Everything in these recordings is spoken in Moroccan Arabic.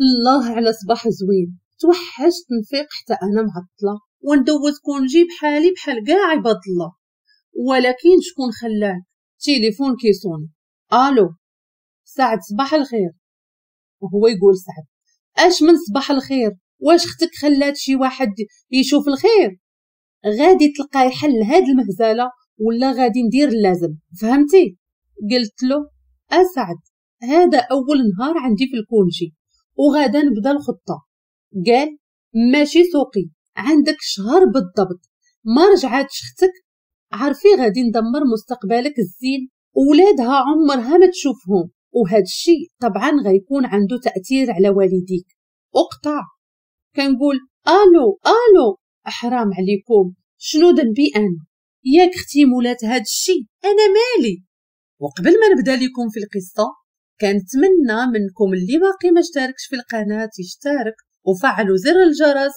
الله على صباح زوين، توحشت نفيق حتى انا معطلة وندوز congé بحالي بحال كاع عباد الله. ولكن شكون خلاك؟ تليفون كيصوني. الو سعد، صباح الخير. وهو يقول سعد: اش من صباح الخير؟ واش اختك خلات شي واحد يشوف الخير؟ غادي تلقاي حل هاد المهزلة ولا غادي ندير اللازم، فهمتي؟ قلت له: اسعد، هذا اول نهار عندي في ال congé وغادا نبدا الخطة. قال: ماشي سوقي، عندك شهر بالضبط، ما رجعاتش اختك عارفي غادي ندمر مستقبلك الزين، ولادها عمرها ما تشوفهم، وهذا الشيء طبعا غيكون عنده تاثير على والديك. اقطع. كنقول: الو الو، حرام عليكم، شنو ذنبي انا؟ ياك اختي مولات هاد الشيء، انا مالي؟ وقبل ما نبدا لكم في القصة، كنتمنى منكم اللي باقي ما اشتركش في القناة يشترك وفعلوا زر الجرس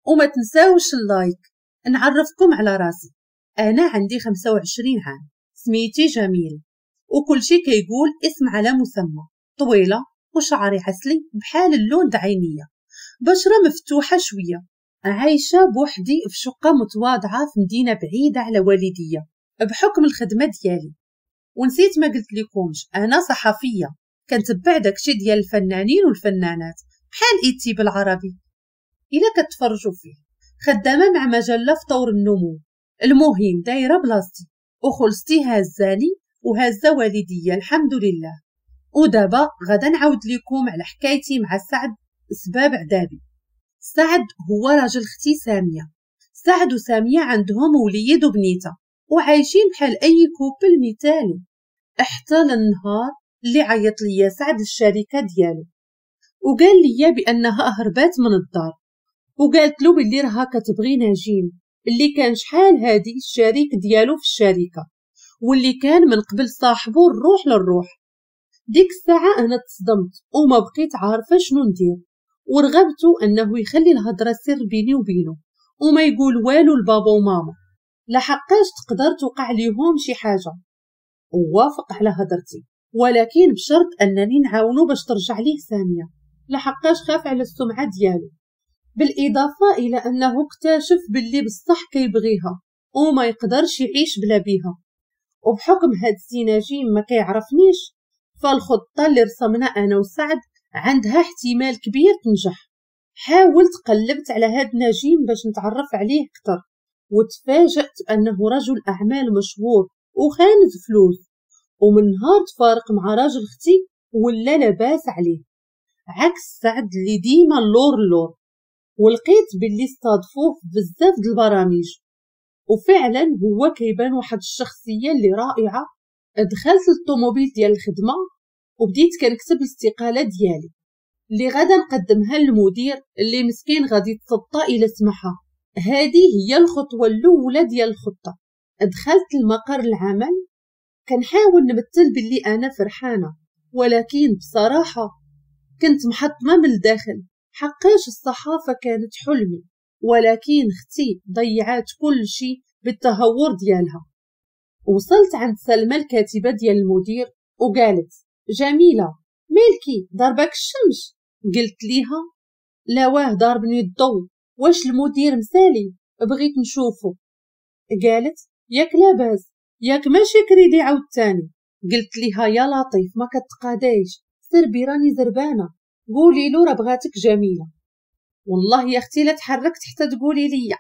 وما تنساوش ال like. نعرفكم على راسي، انا عندي 25 عام، سميتي جميل، وكل شي كيقول اسم على مسمى، طويلة وشعري عسلي بحال اللون د عينيا، بشره مفتوحة شوية، عايشه بوحدي في شقه متواضعة في مدينة بعيدة على والديه بحكم الخدمة ديالي. ونسيت ما قلت لكمش، انا صحفية، كنتبع داكشي ديال الفنانين والفنانات بحال ايتي بالعربي الا كتفرجوا فيه، خدامه مع مجلة في طور النمو. المهم دايرة بلاصتي وخلصتي هزاني وهزه والديه الحمد لله. ودابا غادا نعاود لكم على حكايتي مع سعد، سباب عذابي. سعد هو راجل اختي سامية. سعد وساميه عندهم وليد وبنيته وعايشين بحال اي couple مثالي، حتى للنهار اللي عيط ليا سعد للشركة ديالو وقال لي بانها هربات من الدار، وقالت له باللي راها كتبغي نجيم اللي كان شحال هادي الشريك ديالو في الشركة واللي كان من قبل صاحبو الروح للروح. ديك الساعة انا تصدمت وما بقيت عارفه شنو ندير، ورغبت انه يخلي الهضرة سر بيني وبينه وما يقول والو لبابا وماما، لحقاش تقدر توقع ليهم شي حاجة. ووافق على هضرتي، ولكن بشرط انني نعاونو باش ترجع ليه سامية، لحقاش خاف على السمعة ديالو، بالاضافة الى انه اكتشف باللي بصح كيبغيها وما يقدرش يعيش بلا بيها. وبحكم هاد السي نجيم ما كيعرفنيش، فالخطه اللي رسمنا انا وسعد عندها احتمال كبير تنجح. حاولت قلبت على هاد نجيم باش نتعرف عليه اكثر، وتفاجأت انه رجل اعمال مشهور وخانز فلوس، ومن نهار تفارق مع راجل اختي ولا لاباس عليه، عكس سعد اللي ديما اللور اللور. ولقيت باللي استضفوه في بزاف د البرامج، وفعلا هو كيبان واحد الشخصية اللي رائعة. دخلت للطوموبيل ديال الخدمة وبديت كنكتب الاستقالة ديالي اللي غادا نقدمها للمدير اللي مسكين غادي يتسطى الى سمحها. هذه هي الخطوة الاولى ديال الخطة. دخلت لمقر العمل كنحاول نمثل باللي انا فرحانة، ولكن بصراحة كنت محطمه من الداخل، حقاش الصحافة كانت حلمي، ولكن اختي ضيعات كل شيء بالتهور ديالها. وصلت عند سلمى الكاتبة ديال المدير وقالت: جميلة مالكي ضربك الشمس؟ قلت ليها: لا واه ضربني الضو، واش المدير مسالي؟ بغيت نشوفه. قالت: ياك لاباس، ياك ماشي كريدي عاوتاني؟ قلت ليها: يا لطيف ما كتقادايش، سربي راني زربانه، قولي له راه بغاتك جميلة. والله يا اختي لا تحركت حتى تقولي ليا.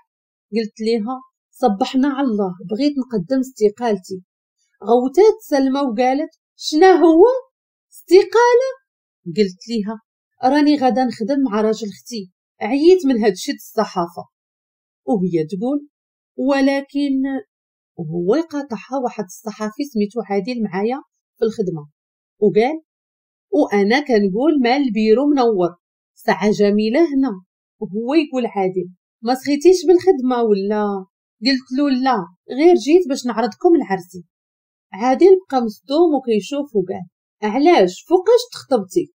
قلت ليها: صبحنا على الله، بغيت نقدم استقالتي. غوتات سلمى وقالت: شنا هو استقالة؟ قلت ليها: راني غادا نخدم مع راجل اختي، عييت من هادشي د الصحافة. وهي تقول: ولكن. وهو يقاطعها واحد الصحفي سميتو عادل معايا في الخدمة وقال: وانا كنقول مال البيرو منور، ساعة جميلة هنا. وهو يقول عادل: ما سخيتيش بالخدمة ولا؟ قلت له: لا، غير جيت باش نعرضكم العرسي. عادل بقى مصدوم وكيشوف وقال: علاش فوقاش تخطبتي؟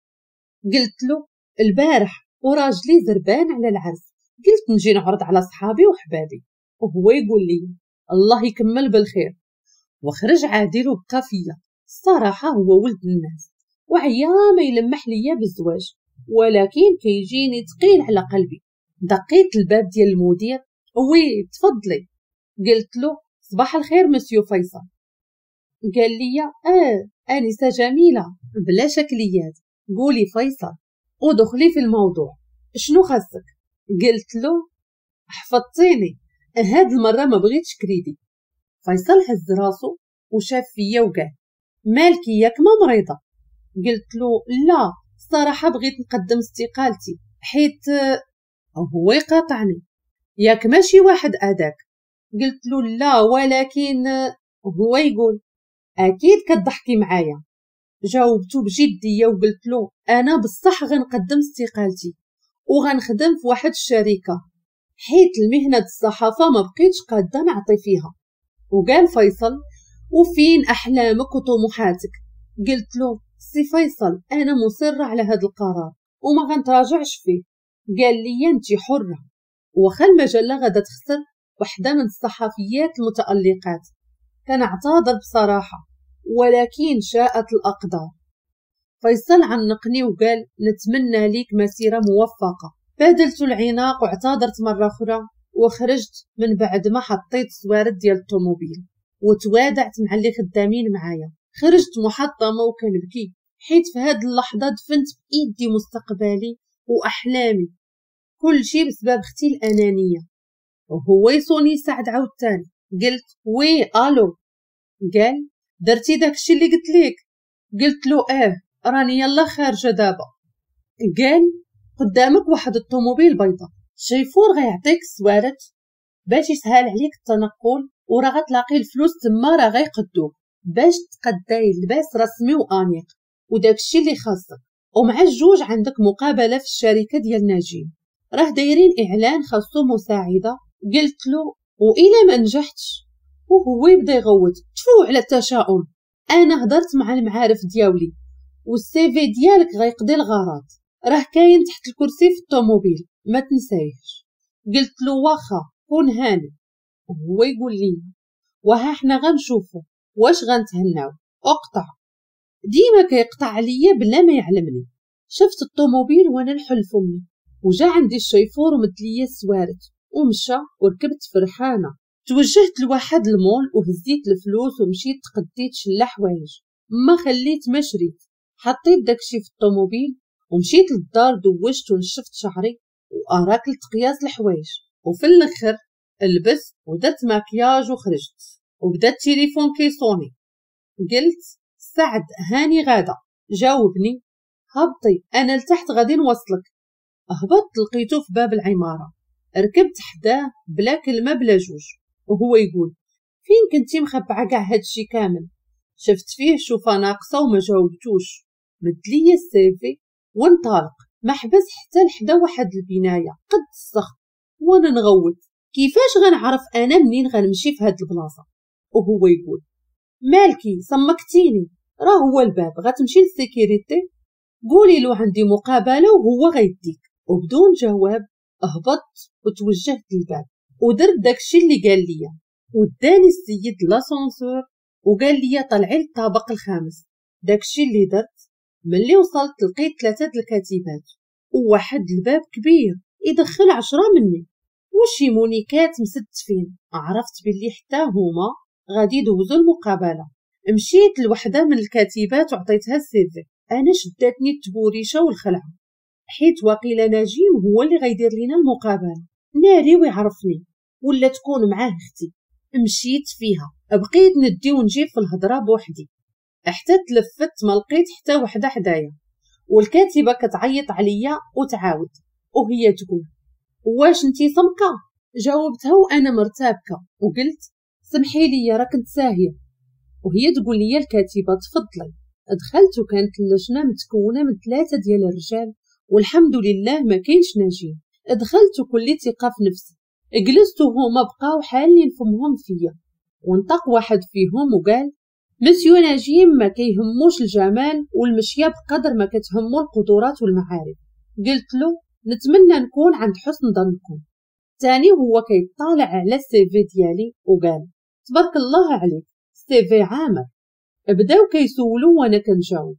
قلت له: البارح، وراجلي زربان على العرس، قلت نجي نعرض على صحابي وحبابي. وهو يقول لي: الله يكمل بالخير. وخرج عادل وبقى فيا. الصراحة هو ولد الناس وعيا ما يلمح ليا بالزواج، ولكن كيجيني ثقيل على قلبي. دقيت الباب ديال المدير، oui تفضلي. قلت له صباح الخير مسيو فيصل. قال لي انسه جميلة بلا شكليات، قولي فيصل ودخلي في الموضوع، شنو خاصك؟ قلت له حفظتيني، هاد المرة ما بغيتش كريدي. فيصل هز راسو وشاف فيا وقال مالكي ياك ما مريضه؟ قلت له لا الصراحة بغيت نقدم استقالتي حيت. هو يقاطعني، ياك ماشي واحد اداك؟ قلت له لا ولكن. هو يقول اكيد كتضحكي معايا. جاوبته بجدية وقلت له انا بصح غنقدم استقالتي وغنخدم في واحد الشركة، حيت المهنة الصحافة ما بقيتش قاده نعطي فيها. وقال فيصل وفين احلامك وطموحاتك؟ قلت له سي فيصل انا مصرة على هذا القرار وما غنتراجعش فيه. قال لي انت حره، وخا المجلة غادا تخسر وحده من الصحفيات المتالقات. كنعتذر بصراحة ولكن شاءت الاقدار. فيصل عنقني وقال نتمنى ليك مسيره موفقة. بادلت العناق واعتذرت مرة اخرى وخرجت من بعد ما حطيت السوارد ديال الطوموبيل وتوادعت مع اللي خدامين معايا. خرجت محطمه وكنبكي، حيت في هاد اللحظة دفنت بايدي مستقبلي واحلامي، كل شيء بسبب اختي الانانية. وهو يصوني سعد عاوتاني. قلت oui allô. قال درتي داكشي اللي قلت لك؟ قلت له راني يلا خارجه دابا. قال قدامك واحد الطوموبيل بيضاء، الشيفور غيعطيك السوارت باش يسهل عليك التنقل، وراه غتلاقي الفلوس تما راه غيقدوك باش تقداي لباس رسمي وانيق وداكشي اللي خاصك. ومع الجوج عندك مقابله في الشركة ديال نجيم، راه دايرين اعلان خاصو مساعدة. قلت له وإلا ما نجحتش؟ وهو يبدا يغوت تفو على التشاؤم، انا هضرت مع المعارف دياولي وال CV ديالك غيقضي الغرض، راه كاين تحت الكرسي في الطوموبيل ما تنسايهش. قلت له واخا كون هاني. وهو يقول لي وها حنا غنشوفو واش غنتهناو. اقطع. ديما كيقطع عليا بلا ما يعلمني. شفت الطوموبيل وانا نحل فمي، وجا عندي الشيفور ومد ليا السوارت ومشى، وركبت فرحانة. توجهت لواحد المول وهزيت الفلوس ومشيت تقديت شلا حوايج، ما خليت ما شريت. حطيت داكشي في الطوموبيل ومشيت للدار، دوشت ونشفت شعري واراكلت قياس الحوايج، وفي الاخر لبست ودرت ماكياج وخرجت. وبدا التليفون كيصوني. قلت سعد هاني غاده. جاوبني هبطي انا لتحت غادي نوصلك. هبطت لقيته في باب العمارة، ركبت حداه بلا كلمة بلا جوج، وهو يقول فين كنتي مخبعه كاع هادشي كامل؟ شفت فيه شوفه ناقصه وما جاوبتوش. مد ليا ال CV وانطلق، ما حبس حتى لحدا واحد البناية قد الصخر، وانا نغوت كيفاش غنعرف انا منين غنمشي في هاد البلاصة؟ وهو يقول مالكي صمكتيني، راه هو الباب، غتمشي لل sécurité قولي له عندي مقابله وهو غيديك. وبدون جواب هبطت وتوجهت للباب ودرت داكشي اللي قال لي. وداني السيد l'ascenseur وقال لي طلعي للطابق الخامس. داكشي اللي درت. ملي وصلت لقيت 3 الكاتبات وواحد الباب كبير يدخل 10 مني وشي مونيكات مستفين. عرفت باللي حتى هما غادي يدوزو المقابلة. مشيت لوحده من الكاتبات وعطيتها ال CV. انا شداتني التبوريشه والخلعه، حيت واقيلا نجيم هو اللي غيدير لينا المقابلة، ناري ويعرفني ولا تكون معاه اختي. مشيت فيها، بقيت ندي ونجيب في الهضرة بوحدي حتى تلفت ما لقيت حتى وحده حدايا. والكاتبه كتعيط عليا وتعاود وهي تقول واش انتي صمكه؟ جاوبتها وانا مرتبكه وقلت سمحي لي راه كنت ساهيه. وهي تقول لي الكاتبة تفضلي. دخلت وكانت اللجنة متكونه من 3 ديال الرجال والحمد لله ما كاينش نجيم. دخلت وكلي ثقة في نفسي، جلست وهما بقاو حالين فمهم فيا. ونطق واحد فيهم وقال مسيو نجيم ما كيهموش الجمال والمشيه بقدر ما كتهمو القدرات والمعارف. قلت له نتمنى نكون عند حسن ظنكم. تاني هو كيطالع على ال CV ديالي وقال تبارك الله عليك CV عامر. بداو كيسولو وانا كنجاوب.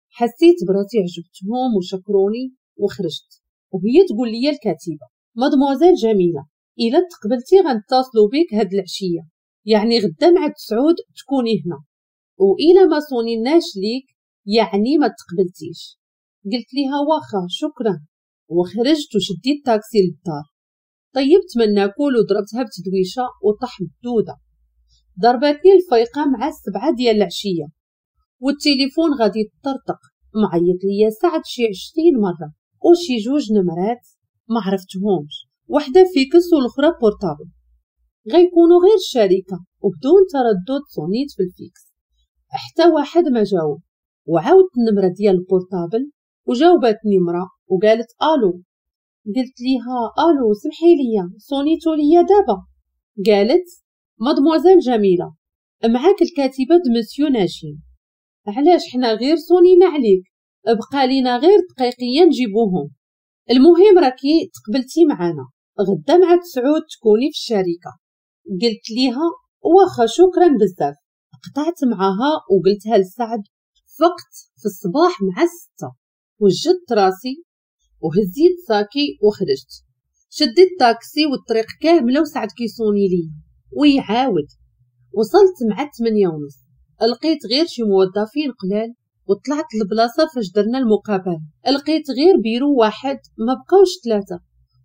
حسيت براسي عجبتهم وشكروني وخرجت. وهي تقول لي الكاتبة مادموزيل جميلة الا تقبلتي غنتصلوا بك هاد العشية، يعني غدا مع 9 تكوني هنا، وإلا ما صونيناش ليك يعني ما تقبلتيش. قلت ليها واخا شكرا، وخرجت وشديت تاكسي للدار. طيبت من ناكل وضربتها بتدويشه وطاح الدودة. ضربتني الفيقه مع 7 ديال العشية، والتليفون غادي يطرطق، معيط ليا سعد شي 20 مرة وشي 2 نمرات ما عرفتهمش، وحده fixe والاخرى portable، غيكونوا غير الشركة. وبدون تردد صونيت في ال fixe، حتى واحد ما جاوب. وعاودت النمرة ديال ال portable وجاوبتني مرا وقالت الو. قلت ليها الو سمحي لي صونيتو ليا دابا. قالت مادموزيل جميلة معاك الكاتبة د مسيو ناجين. علاش حنا غير صونينا عليك، بقى لينا غير دقيقيه نجيبوهم. المهم راكي تقبلتي معانا، غدا مع 9 تكوني في الشركة. قلت ليها واخا شكرا بزاف. قطعت معاها وقلتها لسعد. فقت في الصباح مع 6، وجدت راسي وهزيت ساكي وخرجت. شديت تاكسي والطريق كاملة وسعد كيصوني لي ويعاود. وصلت مع 8:30، لقيت غير شي موظفين قلال، وطلعت للبلاصه فاش درنا المقابلة، لقيت غير بيرو واحد ما بقاوش 3،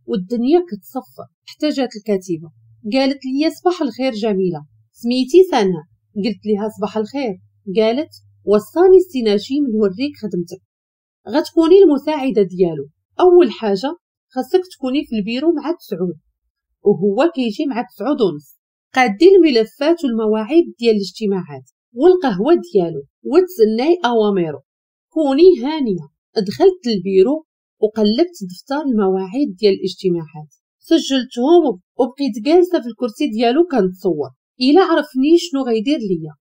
والدنيا كتصفر. حتى جات الكاتبة قالت لي صباح الخير جميلة، سميتي سناء. قلت لها صباح الخير. قالت وصاني السي نجيم نوريك خدمتك، غتكوني المساعدة ديالو. اول حاجة خاصك تكوني في البيرو مع 9، وهو كيجي مع 9:30. قادي الملفات والمواعيد ديال الاجتماعات والقهوة ديالو وتسناي اوامره، كوني هانيه. دخلت البيرو وقلبت دفتر المواعيد ديال الاجتماعات، سجلتهم وبقيت جالسة في الكرسي ديالو كنتصور الا عرفني شنو غيدير ليا.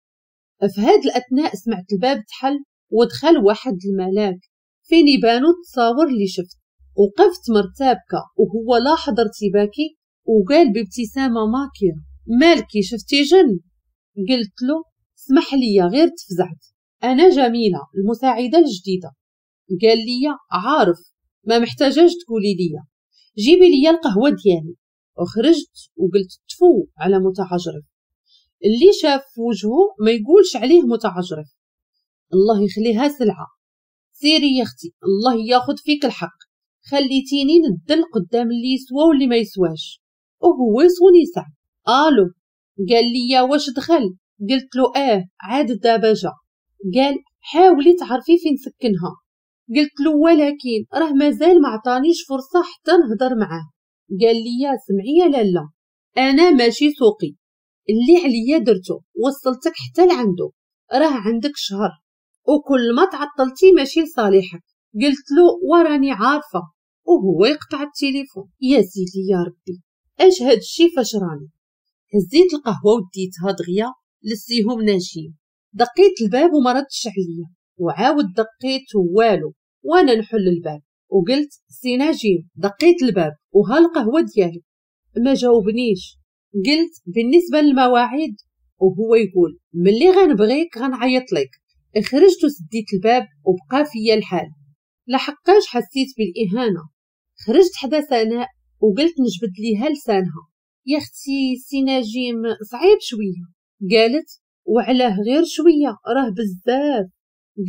في هاد الاثناء سمعت الباب تحل ودخل واحد الملاك فين يبانو التصاور اللي شفت. وقفت مرتبكه وهو لاحظ ارتباكي وقال بابتسامة ماكره مالكي شفتي جن؟ قلت له اسمح لي غير تفزعت، انا جميلة المساعدة الجديدة. قال لي عارف ما محتاجاش تقولي لي، جيبي لي القهوة ديالي. وخرجت وقلت تفو على متعجرف، اللي شاف وجهه ما يقولش عليه متعجرف، الله يخليها سلعه. سيري يا اختي الله ياخذ فيك الحق، خليتيني ندل قدام اللي يسوى واللي ما يسواش. وهو يصوني سعد الو. قال لي واش دخل؟ قلت له عاد دابا جا. قال حاولي تعرفي فين سكنها. قلت له ولكن راه مازال ما عطانيش فرصة حتى نهضر معاه. قال لي سمعي يا لاله انا ماشي سوقي، اللي عليا درته وصلتك حتى لعنده، راه عندك شهر وكل ما تعطلتي ماشي لصالحك. قلت له وراني عارفه. وهو يقطع التليفون. يا سيدي يا ربي اش هاد الشي فاش راني. هزيت القهوة وديتها دغيا لسيهم ناجين. دقيت الباب وما ردش عليا، وعاود دقيت والو، وانا نحل الباب وقلت سي ناجين دقيت الباب وها القهوة ديالك. ما جاوبنيش. قلت بالنسبة للمواعيد، وهو يقول ملي غنبغيك غنعيط لك. خرجت وسديت الباب وبقى فيا الحال، لحقاش حسيت بالاهانه. خرجت حدا سناء وقلت نجبد ليها لسانها، يا اختي سي نجيم صعيب شوية. قالت وعلاه غير شوية راه بزاف.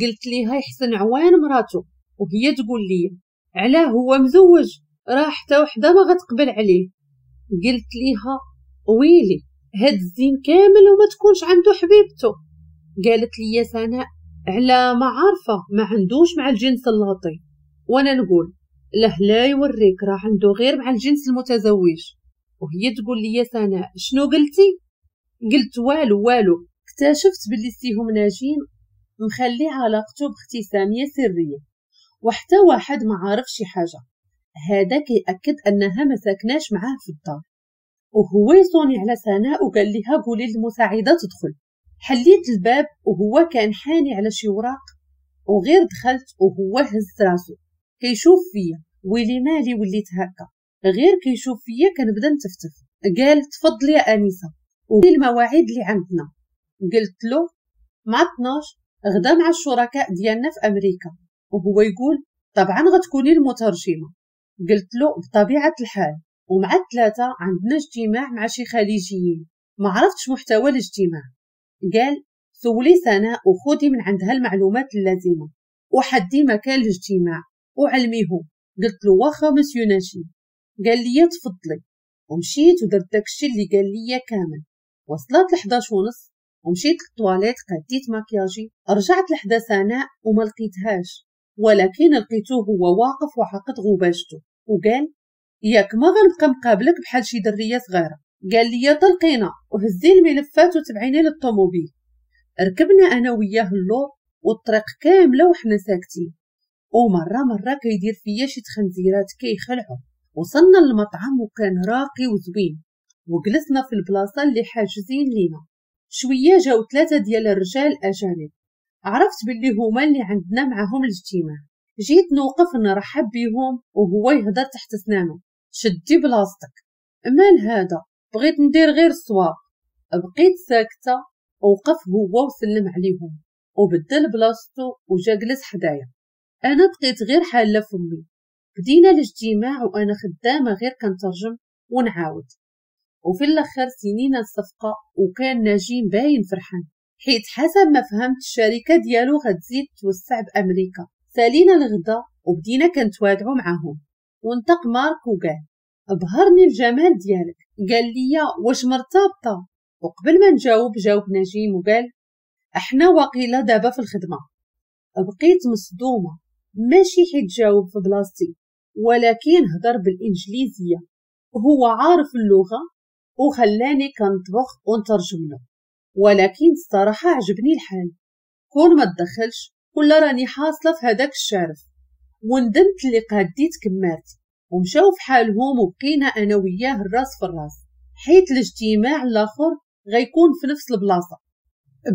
قلت ليها يحسن عوان مراته، وهي تقول لي علاه هو مزوج راه حتى وحده ما غتقبل عليه. قلت ليها ويلي هاد الزين كامل وما تكونش عنده حبيبته. قالت لي سناء على ما عارفه ما عندوش مع الجنس اللطيف. وانا نقول له لا يوريك راه عنده غير مع الجنس المتزوج. وهي تقول لي سناء شنو قلتي؟ قلت والو والو. اكتشفت باللي سيهم ناجين مخلي علاقته باختي سامية سرية وحتى واحد ما عارف شي حاجة. هذا كيأكد انها ما ساكناش معاه في الدار. وهو يصوني على سناء وقال لها قولي للمساعدة تدخل. حليت الباب وهو كان حاني على شي وراق، وغير دخلت وهو هز راسو كيشوف فيا. ويلي مالي وليت هكا، غير كيشوف فيا كنبدا نتفتف. قال تفضلي يا انسه وقولي المواعيد اللي عندنا. قلت له مع 12 غدا مع الشركاء ديالنا في امريكا. وهو يقول طبعا غتكوني المترجمة. قلت له بطبيعة الحال. ومع 3 عندنا اجتماع مع شي خليجيين، ما عرفتش محتوى الاجتماع. قال سولي سناء وخذي من عندها المعلومات اللازمة وحدي مكان الاجتماع وعلميهم. قلت له واخا مسيو نجيم. قال لي تفضلي، ومشيت ودرت داكشي اللي قال لي كامل. وصلت 11:30 ومشيت للطواليت قديت ماكياجي، رجعت لحدا سناء وما لقيتهاش، ولكن لقيته هو واقف وعقد غباشته وقال ياك ما غنبقى مقابلك بحال شي دريه صغيرة. قال لي طلقينا وهزي الملفات وتبعيني للطوموبيل. ركبنا انا وياه اللور والطريق كاملة وحنا ساكتين، ومرة مرة كيدير فيا شي تخنزيرات كيخلعو. وصلنا للمطعم وكان راقي وزوين، وجلسنا في البلاصة اللي حاجزين لينا. شوية جاو 3 ديال الرجال اجانب، عرفت باللي هما اللي عندنا معاهم الاجتماع. جيت نوقف نرحب بيهم وهو يهضر تحت سنانه، شدي بلاصتك. مال هذا؟ بغيت ندير غير الصواب. بقيت ساكته. وقف هو وسلم عليهم وبدل بلاصتو وجا جلس حدايا. انا بقيت غير حاله فمي. بدينا الاجتماع وانا خدامه غير كنترجم ونعاود، وفي الاخر سنينا الصفقة. وكان نجيم باين فرحان، حيت حسب ما فهمت الشركة ديالو غتزيد توسع بامريكا. سالينا الغدا وبدينا كنتوادعوا معاهم، وانطق مارك وقال ابهرني الجمال ديالك. قال لي واش مرتبطة؟ وقبل ما نجاوب جاوب نجيم وقال احنا واقيلا دابا في الخدمة. بقيت مصدومة، ماشي حيت جاوب في بلاصتي، ولكن هضر بالانجليزية وهو عارف اللغة وخلاني كنطبخ ونترجم له. ولكن الصراحة عجبني الحال، كون ما تدخلش ولا راني حاصله في هذاك الشارف. وندمت اللي قاديت كمارتي. ومشاو في حالهم وبقينا انا وياه الراس في الراس، حيت الاجتماع الاخر غيكون في نفس البلاصة.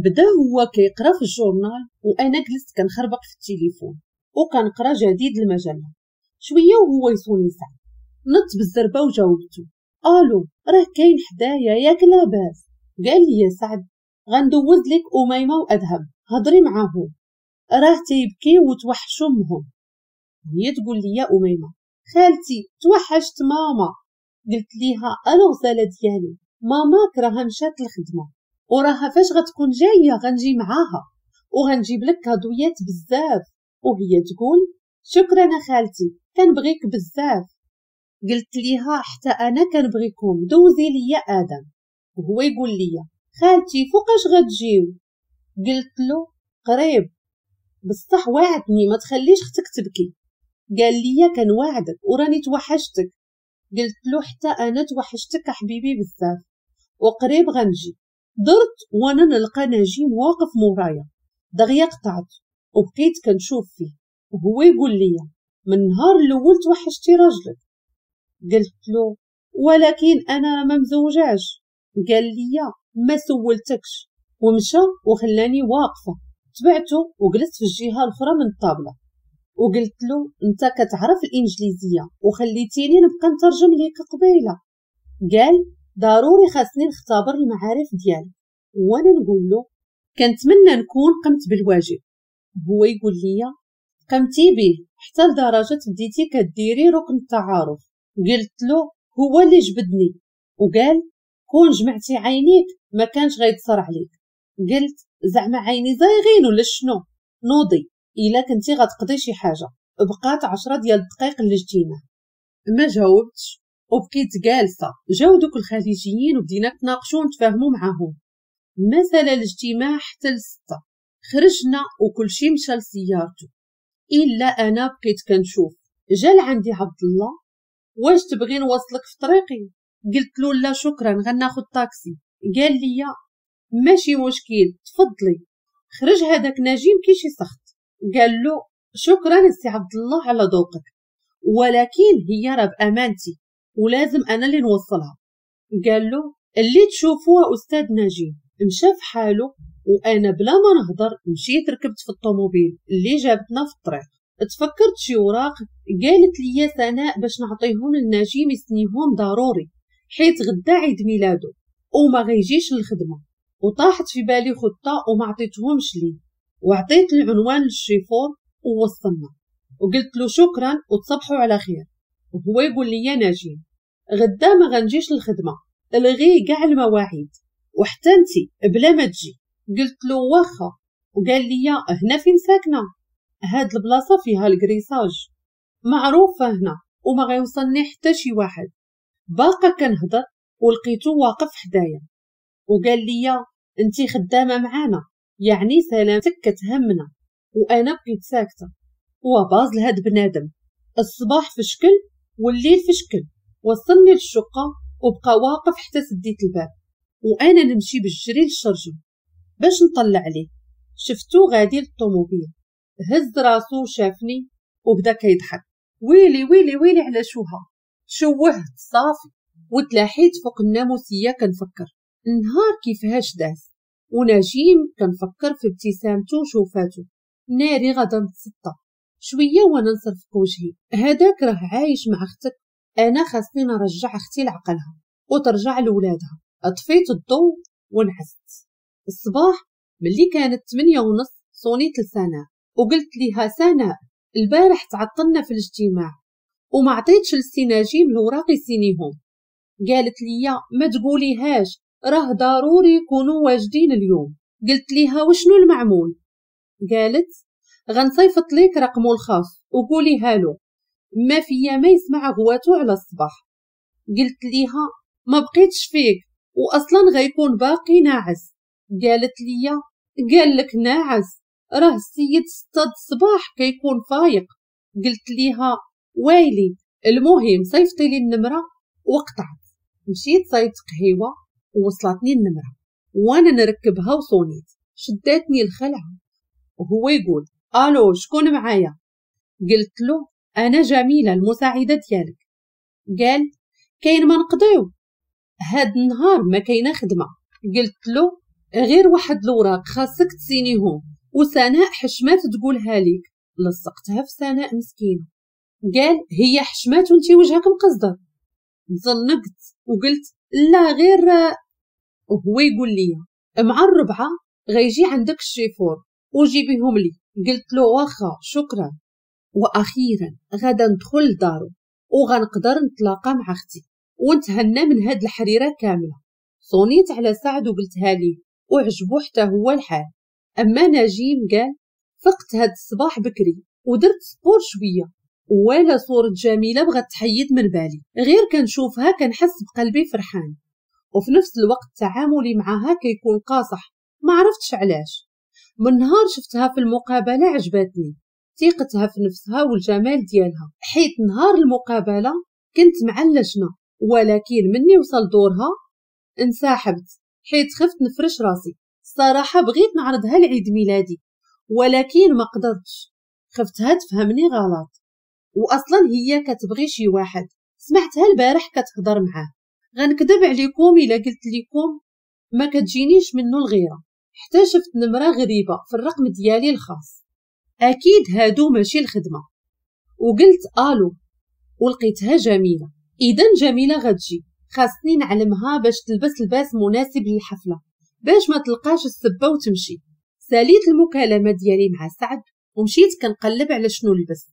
بدا هو كيقرا في ال journal وانا جلست كنخربق في التليفون وكنقرا جديد المجلة. شوية وهو يصوني ساعة، نط بالزربه وجاوبته الو راه كاين حدايا ياك لاباس؟ قال لي يا سعد غندوز لك اميمة وادهم هضري معاهم، راه تيبكي وتوحشوا امهم. هي تقول لي يا اميمة خالتي توحشت ماما. قلت ليها الو غزاله ديالي، ماماك راها مشات للخدمة وراها فاش غتكون جاية غنجي معاها وغنجيب لك كادويات بزاف. وهي تقول شكرا خالتي كنبغيك بزاف. قلت ليها حتى انا كنبغيكم، دوزي ليا ادم. وهو يقول لي خالتي فوقاش غتجيو؟ قلت له قريب، بصح وعدني ما تخليش اختك تبكي. قال لي كنوعدك وراني توحشتك. قلت له حتى انا توحشتك حبيبي بزاف وقريب غنجي. درت وانا نلقى نجيم واقف مورايا، دغيا قطعت وبقيت كنشوف فيه وهو يقول لي من النهار الاول توحشتي راجلك. قلت له ولكن انا ما مزوجاش. قال لي ما سولتكش، ومشى وخلاني واقفة. تبعته وجلست في الجهة الاخرى من الطابله وقلت له انت كتعرف الانجليزية وخليتيني نبقى نترجم ليك قبيلة. قال ضروري خاصني نختبر المعارف ديالك. وانا نقول له كنتمنى نكون قمت بالواجب. هو يقول لي قمتي به حتى لدرجة بديتي كديري ركن التعارف. قلت له هو اللي جبدني، وقال كون جمعتي عينيك ما كانش غيتصر عليك. قلت زعما عيني زايغين ولا شنو؟ نوضي الا كنتي غتقضي شي حاجة. بقات 10 ديال الدقائق الاجتماع، ما جاوبتش وبقيت جالسة. جاو دوك الخليجيين وبدينا نتناقشوا ونتفاهموا معاهم. مثلا الاجتماع حتى 6 خرجنا وكل شي مشى لسيارته الا انا بقيت كنشوف. جا لعندي عبد الله، واش تبغي نوصلك في طريقي؟ قلت له لا شكرا غناخذ طاكسي. قال لي ماشي مشكل تفضلي. خرج هذاك نجيم كي شي سخط، قال له شكرا السي عبد الله على ذوقك، ولكن هي راه بامانتي ولازم انا اللي نوصلها. قال له اللي تشوفوها استاذ نجيم. مشى في حاله وانا بلا ما نهضر مشيت ركبت في الطوموبيل اللي جابتنا في الطريق. تفكرت شي وراق قالت لي سناء باش نعطيهم للنجيم يسنيهم ضروري حيت غدا عيد ميلاده وما غيجيش للخدمة. وطاحت في بالي خطه وما عطيتهمش ليه، وعطيت العنوان للشيفور ووصلنا. وقلت له شكرا وتصبحوا على خير. وهو يقول لي يا نجيم غدا ما غنجيش للخدمة، الغي كاع المواعيد وحتى انتي بلا ما تجي. قلت له واخا. وقال لي هنا فين ساكنة؟ هاد البلاصة فيها الكريساج معروفة هنا وما غيوصلني حتى شي واحد. باقا كنهضر ولقيتو واقف حدايا وقال لي انتي خدامه معانا يعني سلامتك كتهمنا. وانا بقيت ساكته وباز لهاد بنادم، الصباح في شكل والليل في شكل. وصلني للشقه وبقى واقف حتى سديت الباب وانا نمشي بالجري للشرجم باش نطلع عليه. شفتو غادي للطوموبيل، هز راسو وشافني وبدا كيضحك. ويلي ويلي ويلي على شوها، شوهت صافي. وتلاحيت فوق الناموسيه كنفكر النهار كيفاش داز، ونجيم كنفكر في ابتسامته وشوفاتو. ناري غادا نتسطى شوية وانا نصرف وجهي. هذاك راه عايش مع اختك، انا خاصني نرجع اختي لعقلها وترجع لولادها. طفيت الضوء ونعست. الصباح ملي كانت 8:30 صونيت لسناء وقلت ليها سناء البارح تعطلنا في الاجتماع وما عطيتش للسي نجيم الوراق يسينيهم. قالت لي ما تقوليهاش راه ضروري يكونوا واجدين اليوم. قلت ليها وشنو المعمول؟ قالت غنصيفط ليك رقمه الخاص وقوليها له، ما فيا ما يسمع غواتو على الصباح. قلت ليها ما بقيتش فيك واصلا غيكون باقي ناعس. قالت لي قال لك ناعس، راه السيد 6 الصباح كيكون فايق. قلت ليها ويلي، المهم صيفطي لي النمرة. وقطعت. مشيت صيفط قهيوه ووصلتني النمرة وانا نركبها وصونيت. شداتني الخلعة وهو يقول الو شكون معايا؟ قلت له انا جميلة المساعدة ديالك. قال كاين ما نقضيو هاد النهار، ما كاينه خدمة. قلت له غير واحد الوراق خاصك تسينيهم وسناء حشمات تقولها ليك. لصقتها في سناء مسكينه. قال هي حشمات وانتي وجهك مقصدر. تزنقت وقلت لا غير. وهو يقول لي مع 4 غيجي عندك الشيفور وجيبيهم لي. قلت له واخا شكرا. واخيرا غادا ندخل لدارو وغنقدر نتلاقى مع اختي ونتهنى من هاد الحريره كاملة. صونيت على سعد وقلتها ليه وعجبو حتى هو الحال. اما نجيم قال فقت هاد الصباح بكري ودرت sport شوية ولا صورة جميلة بغات تحيد من بالي، غير كنشوفها كنحس بقلبي فرحان، وفي نفس الوقت تعاملي معها كيكون قاصح ما عرفتش علاش. من نهار شفتها في المقابلة عجبتني ثقتها في نفسها والجمال ديالها، حيت نهار المقابلة كنت مع اللجنة، ولكن مني وصل دورها انسحبت حيت خفت نفرش راسي. الصراحة بغيت نعرضها لعيد ميلادي ولكن ما قدرتش، خفتها تفهمني غلط، واصلا هي كتبغي شي واحد سمعتها البارح كتهضر معاه. غنكذب عليكم الا قلت لكم ما كتجينيش منه الغيرة، حتى شفت نمره غريبة في الرقم ديالي الخاص، اكيد هادو ماشي الخدمة. وقلت الو ولقيتها جميلة، اذا جميلة غتجي، خاصني نعلمها باش تلبس لباس مناسب للحفله باش ما تلقاش السبه وتمشي. ساليت المكالمة ديالي مع سعد ومشيت كنقلب على شنو نلبس.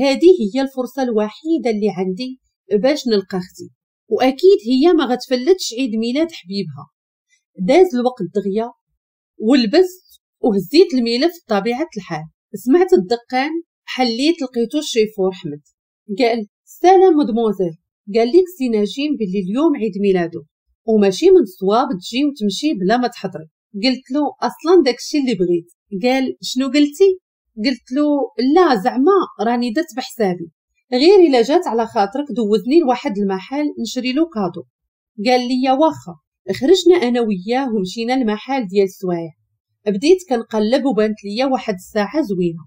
هذه هي الفرصة الوحيدة اللي عندي باش نلقى اختي، واكيد هي ما غتفلتش عيد ميلاد حبيبها. داز الوقت دغيا ولبست وهزيت الملف بطبيعة الحال. سمعت الدقان، حليت لقيتو الشيفور حمد. قال سلام مدموزيل، قال لك سي نجيم باللي اليوم عيد ميلادو وماشي من الصواب تجي وتمشي بلا ما تحضري. قلت له اصلا داكشي اللي بغيت. قال شنو قلتي؟ قلت له لا زعما راني درت بحسابي، غير الا جات على خاطرك دوزني لواحد المحل نشري له cadeau. قال لي واخا. خرجنا انا وياه ومشينا لمحل ديال السوايع. بديت كنقلب وبانت ليا واحد الساعة زوينة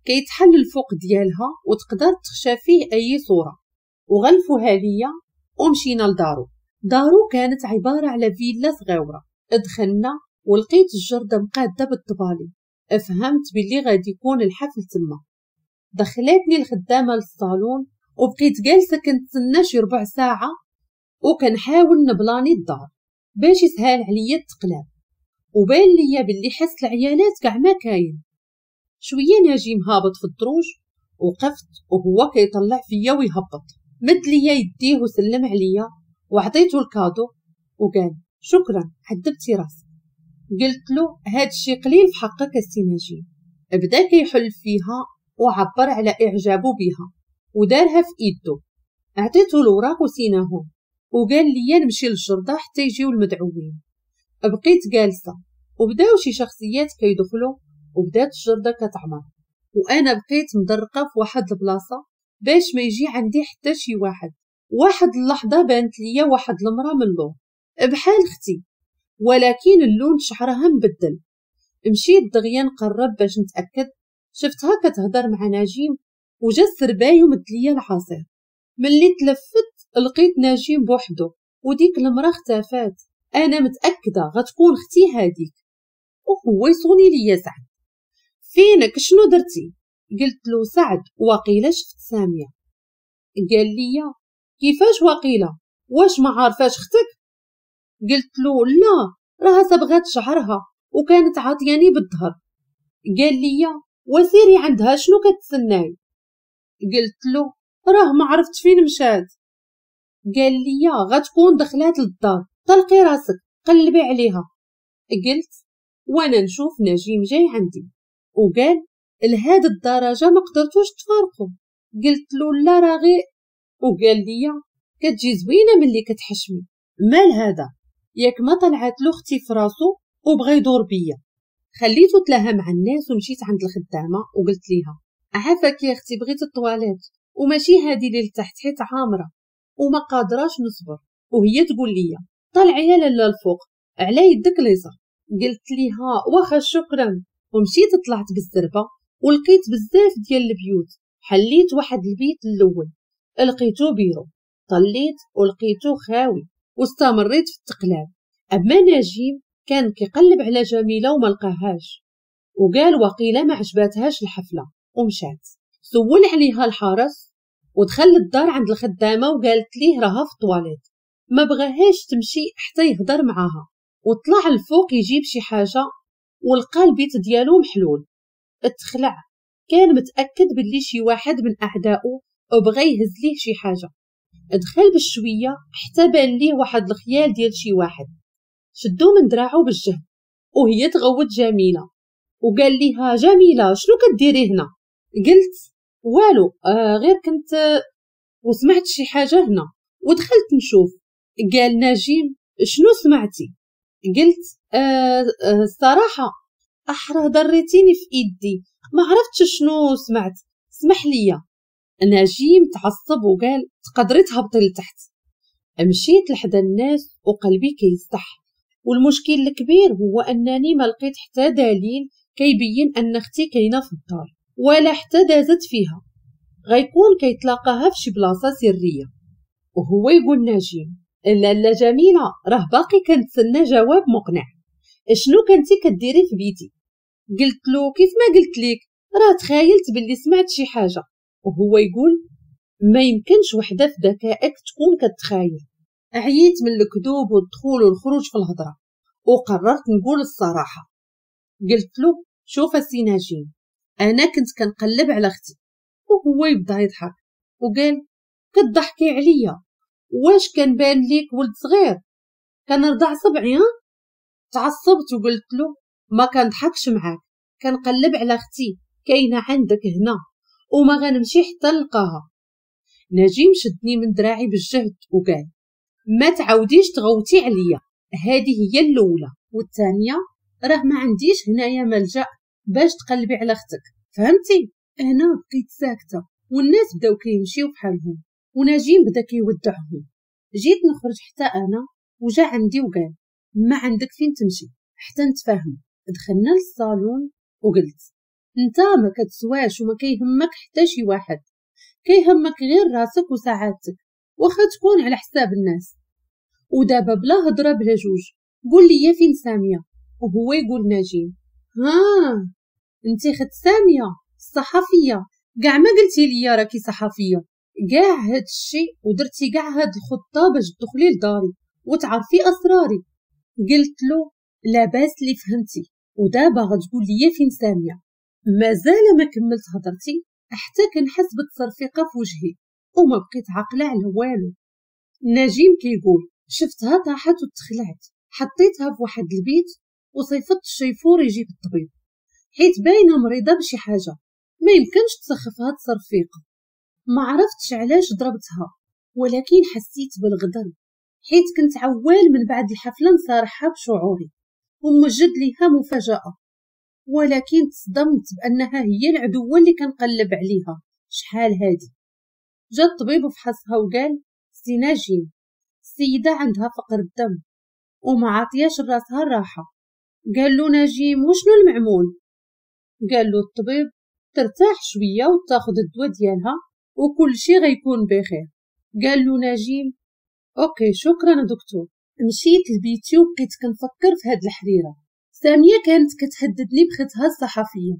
كيتحل الفوق ديالها وتقدر تخشى فيه اي صوره، وغلفوها ليا ومشينا لدارو. دارو كانت عبارة على فيلا صغيرة. دخلنا ولقيت الجرده مقاده بالطبالي، فهمت باللي غادي يكون الحفل تما. دخلتني الخدامة للصالون وبقيت جالسة كنتسنى شي ربع ساعة وكنحاول نبلاني الدار باش يسهل عليا التقلاب، وبان ليا باللي حس العيالات كاع ما كاين. شوية نجيم هابط في الدروج وقفت وهو كيطلع فيا ويهبط، مد ليا يديه وسلم عليا وعطيته ال cadeau وقال شكرا عذبتي راسك. قلت له هاد الشي قليل في حقك السي نجيم. بدا كيحل فيها وعبر على اعجابه بها ودارها في ايدو. عطيته الوراق وسيناهم وقال لي نمشي للجردة حتى يجيو المدعوين. بقيت جالسة وبداو شي شخصيات كيدخلوا وبدات الجردة كتعمر، وانا بقيت مدرقة في واحد البلاصة باش ما يجي عندي حتى شي واحد. واحد اللحظة بانت ليا واحد المرأة من اللور بحال اختي، ولكن اللون شعرها مبدل. مشيت دغيا نقرب باش نتأكد، شفتها كتهضر مع نجيم وجا السرباي ومد ليا العصير. ملي تلفت لقيت نجيم بوحدو وديك المرأة اختفات. انا متأكدة غتكون اختي هاديك. وهو يصوني ليا سعد، فينك شنو درتي؟ قلت له سعد وقيله شفت سامية. قال لي كيفاش وقيله؟ واش ما عارفاش اختك؟ قلت له لا، راها صبغات شعرها وكانت عاطياني بالظهر. قال لي وسيري عندها شنو كتسناي؟ قلت له راه ما عرفت فين مشات. قال لي غتكون دخلات للدار، طلقي راسك قلبي عليها. قلت وانا نشوف نجيم جاي عندي وقال لهاد الدرجة ما قدرتوش تفارقوا؟ قلت له لا راه غير. وقال لي كتجي زوينة ملي كتحشمي، مال هذا؟ ياك ما طلعت له اختي في راسو وبغى يدور بيا. خليته تلاها مع الناس ومشيت عند الخدامة وقلت ليها عافاك يا اختي بغيت الطواليت وماشي هادي اللي لتحت حيت عامرة وما قادراش نصبر. وهي تقول لي طلعي يا لاله الفوق على يدك اليسار. قلت ليها واخا شكرا، ومشيت طلعت بالزربه ولقيت بزاف ديال البيوت. حليت واحد البيت الاول لقيتو بيرو، طليت ولقيتو خاوي واستمريت في التقلاب. اما نجيم كان كيقلب على جميلة وما لقاهاش وقال وقيله ما عجباتهاش الحفلة ومشات. سول عليها الحرس ودخل للدار عند الخدامة وقالت ليه راها في الطواليت، ما بغاهاش تمشي حتى يهضر معاها. وطلع الفوق يجيب شي حاجة ولقى البيت ديالو محلول. اتخلع، كان متاكد باللي شي واحد من اعدائه وبغى يهز ليه شي حاجة. دخل بشوية حتى بان ليه واحد الخيال ديال شي واحد، شدو من دراعو بالجهد وهي تغوت جميلة وقال ليها جميلة شنو كديري هنا؟ قلت والو غير كنت وسمعت شي حاجة هنا ودخلت نشوف. قال نجيم شنو سمعتي؟ قلت الصراحة احرى ضريتيني في ايدي ما عرفتش شنو سمعت، سمح ليا. نجيم تعصب وقال تقدري تهبطي لتحت. مشيت لحدا الناس وقلبي كيستح، والمشكل الكبير هو انني ما لقيت حتى دليل كيبين ان اختي كاينه في الدار ولا حتى دازت فيها، غيكون كيتلاقاها في شي بلاصة سرية. وهو يقول نجيم لا لا جميلة راه باقي كنتسنى جواب مقنع، شنو كنتي كديري في بيتي؟ قلت له كيف ما قلت لك راه تخيلت باللي سمعت شي حاجة. وهو يقول ما يمكنش وحده في ذكائك تكون كتخايل. عييت من الكذوب والدخول والخروج في الهضرة وقررت نقول الصراحة. قلت له شوف السي نجيم انا كنت كنقلب على اختي. وهو يبدا يضحك وقال كتضحكي عليا، واش كنبان ليك ولد صغير كنرضع صبعي؟ ها تعصبت وقلت له ما كنضحكش معاك، كنقلب على اختي كاينه عندك هنا وما غنمشي حتى نلقاها. نجيم شدني من دراعي بالجهد وقال ما تعاوديش تغوتي عليا، هذه هي الاولى والثانية راه ما عنديش هنايا ملجا باش تقلبي على اختك، فهمتي؟ انا بقيت ساكته والناس بداو كيمشيو بحالهم ونجيم بدا كيودعهم. جيت نخرج حتى انا وجا عندي وقال ما عندك فين تمشي حتى نتفاهم. دخلنا للصالون وقلت انت ما كتسواش وما كيهمك حتى شي واحد، كيهمك غير راسك وسعادتك واخا تكون على حساب الناس. ودابا بلا هضره بلا جوج قول لي فين سامية. وهو يقول نجيم ها انت خد سامية الصحفية، كاع ما قلتي لي راكي صحفية، كاع هاد الشيء ودرتي كاع هاد الخطة باش تدخلي لداري وتعرفي اسراري. قلت له لاباس اللي فهمتي، ودابا غتقول لي فين سامية. مازال ما كملت هضرتي حتى كنحس بالتصرفيقه في وجهي وما بقيت عاقلة على والو. نجيم كيقول شفتها طاحت وتخلعت، حطيتها في واحد البيت وصيفطت الشيفور يجيب الطبيب حيت باينة مريضه بشي حاجة، ما يمكنش تسخفها تصرفيقه. ما عرفتش علاش ضربتها، ولكن حسيت بالغدر حيت كنت عوال من بعد الحفلة نصارحها بشعوري وموجد ليها مفاجاة، ولكن تصدمت بانها هي العدوه اللي كنقلب عليها شحال هادي. جا الطبيب وفحصها وقال سي نجيم السيدة عندها فقر الدم وما عطياش راسها الراحة. قال له نجيم وشنو المعمول؟ قال له الطبيب ترتاح شوية وتاخذ الدواء ديالها وكل شيء غيكون بخير. قال له نجيم okay شكرا دكتور. مشيت لبيتي وبقيت كنفكر في هاد الحريره. سامية كانت كتهددني بختها الصحفية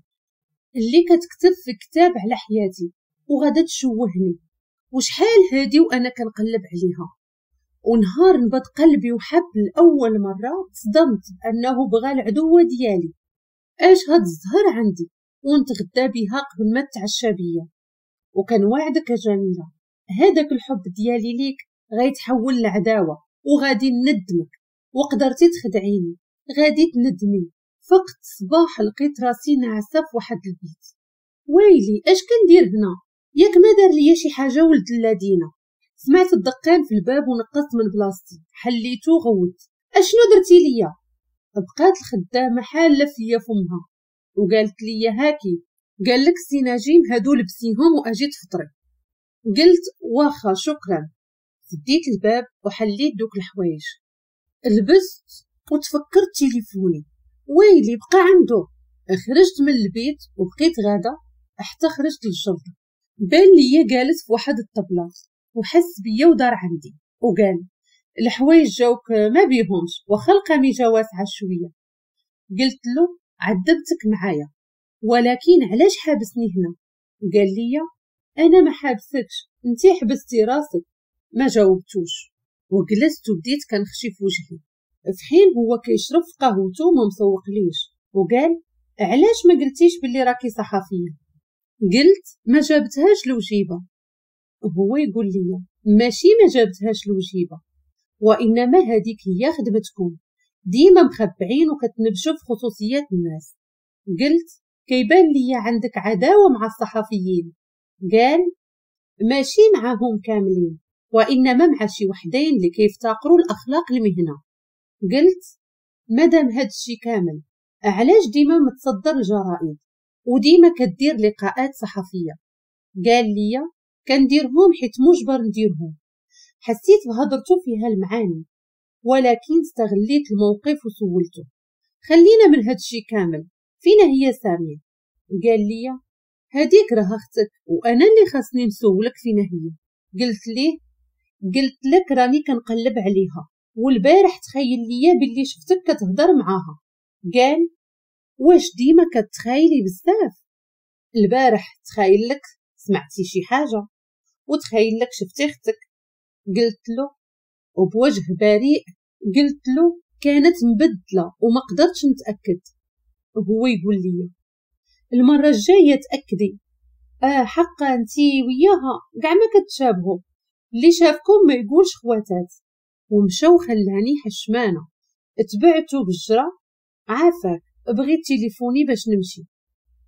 اللي كتكتب في كتاب على حياتي وغادا تشوهني، وشحال هادي وانا كنقلب عليها. ونهار نبض قلبي وحب لاول مرة تصدمت بانه بغى العدوه ديالي. اش هاد الزهر عندي ونتغدى بها قبل ما تعشى بيا. وكان وعدك يا جميلة هذاك الحب ديالي ليك غيتحول لعداوه وغادي ندمك، وقدرتي تخدعيني غادي تندمي. فقت صباح لقيت راسي ناعسه في واحد البيت. ويلي اش كندير هنا؟ ياك ما دار ليا شي حاجة ولد اللذينه. سمعت الدقان في الباب ونقصت من بلاصتي، حليتو غوت اشنو درتي ليا؟ بقات الخدامة حاله فيا فمها وقالت لي هاكي، قال لك سي نجيم هادو لبسيهم واجي تفطري. قلت واخا شكرا. سديت الباب وحليت دوك الحوايج، لبست وتفكرت تليفوني، ويلي بقى عنده. خرجت من البيت وبقيت غاده حتى خرجت للشرطة. بان ليا جالس في واحد الطبلة وحس بيا ودار عندي وقال الحوايج جاوك ما بيهمش واخا القميجه واسعة شوية. قلت له عذبتك معايا ولكن علاش حابسني هنا؟ قال لي انا ما حابسكش، انتي حبستي راسك. ما جاوبتوش وجلست وبديت كنخشي في وجهي، في حين هو كيشرب في قهوته وما مسوقليش. وقال علاش ما قلتيش باللي راكي صحفية؟ قلت ما جابتهاش الوجيبه. هو يقول لي ماشي ما جابتهاش الوجيبه، وانما هذيك هي خدمتكم، ديما مخبعين وكتنبشوا في خصوصيات الناس. قلت كيبان لي عندك عداوة مع الصحفيين. قال ماشي معاهم كاملين، وانما مع شي وحدين اللي كيفتقروا الاخلاق المهنة. قلت مادام هادشي كامل علاش ديما متصدر الجرائد وديما كدير لقاءات صحفية؟ قال لي كنديرهم حيت مجبر نديرهم. حسيت بهضرته فيها المعاني، ولكن استغليت الموقف وسولته خلينا من هادشي كامل، فينا هي سامية؟ قال لي هاديك راه اختك وانا اللي خاصني نسولك فينا هي. قلت ليه قلت لك راني كنقلب عليها والبارح تخيل ليا باللي شفتك كتهضر معاها. قال واش ديما كتخايلي بزاف؟ البارح تخايل لك سمعتي شي حاجة وتخيل لك شفتي اختك. قلت له وبوجه بريء قلت له كانت مبدله وما قدرتش نتاكد. هو يقول لي المرة الجاية تاكدي. حقا انتي وياها كاع ما كتشابهوا، اللي شافكم ما يقولش خواتات. ومشى وخلاني حشمانه. تبعته بالجرة عافاك بغيت تليفوني باش نمشي.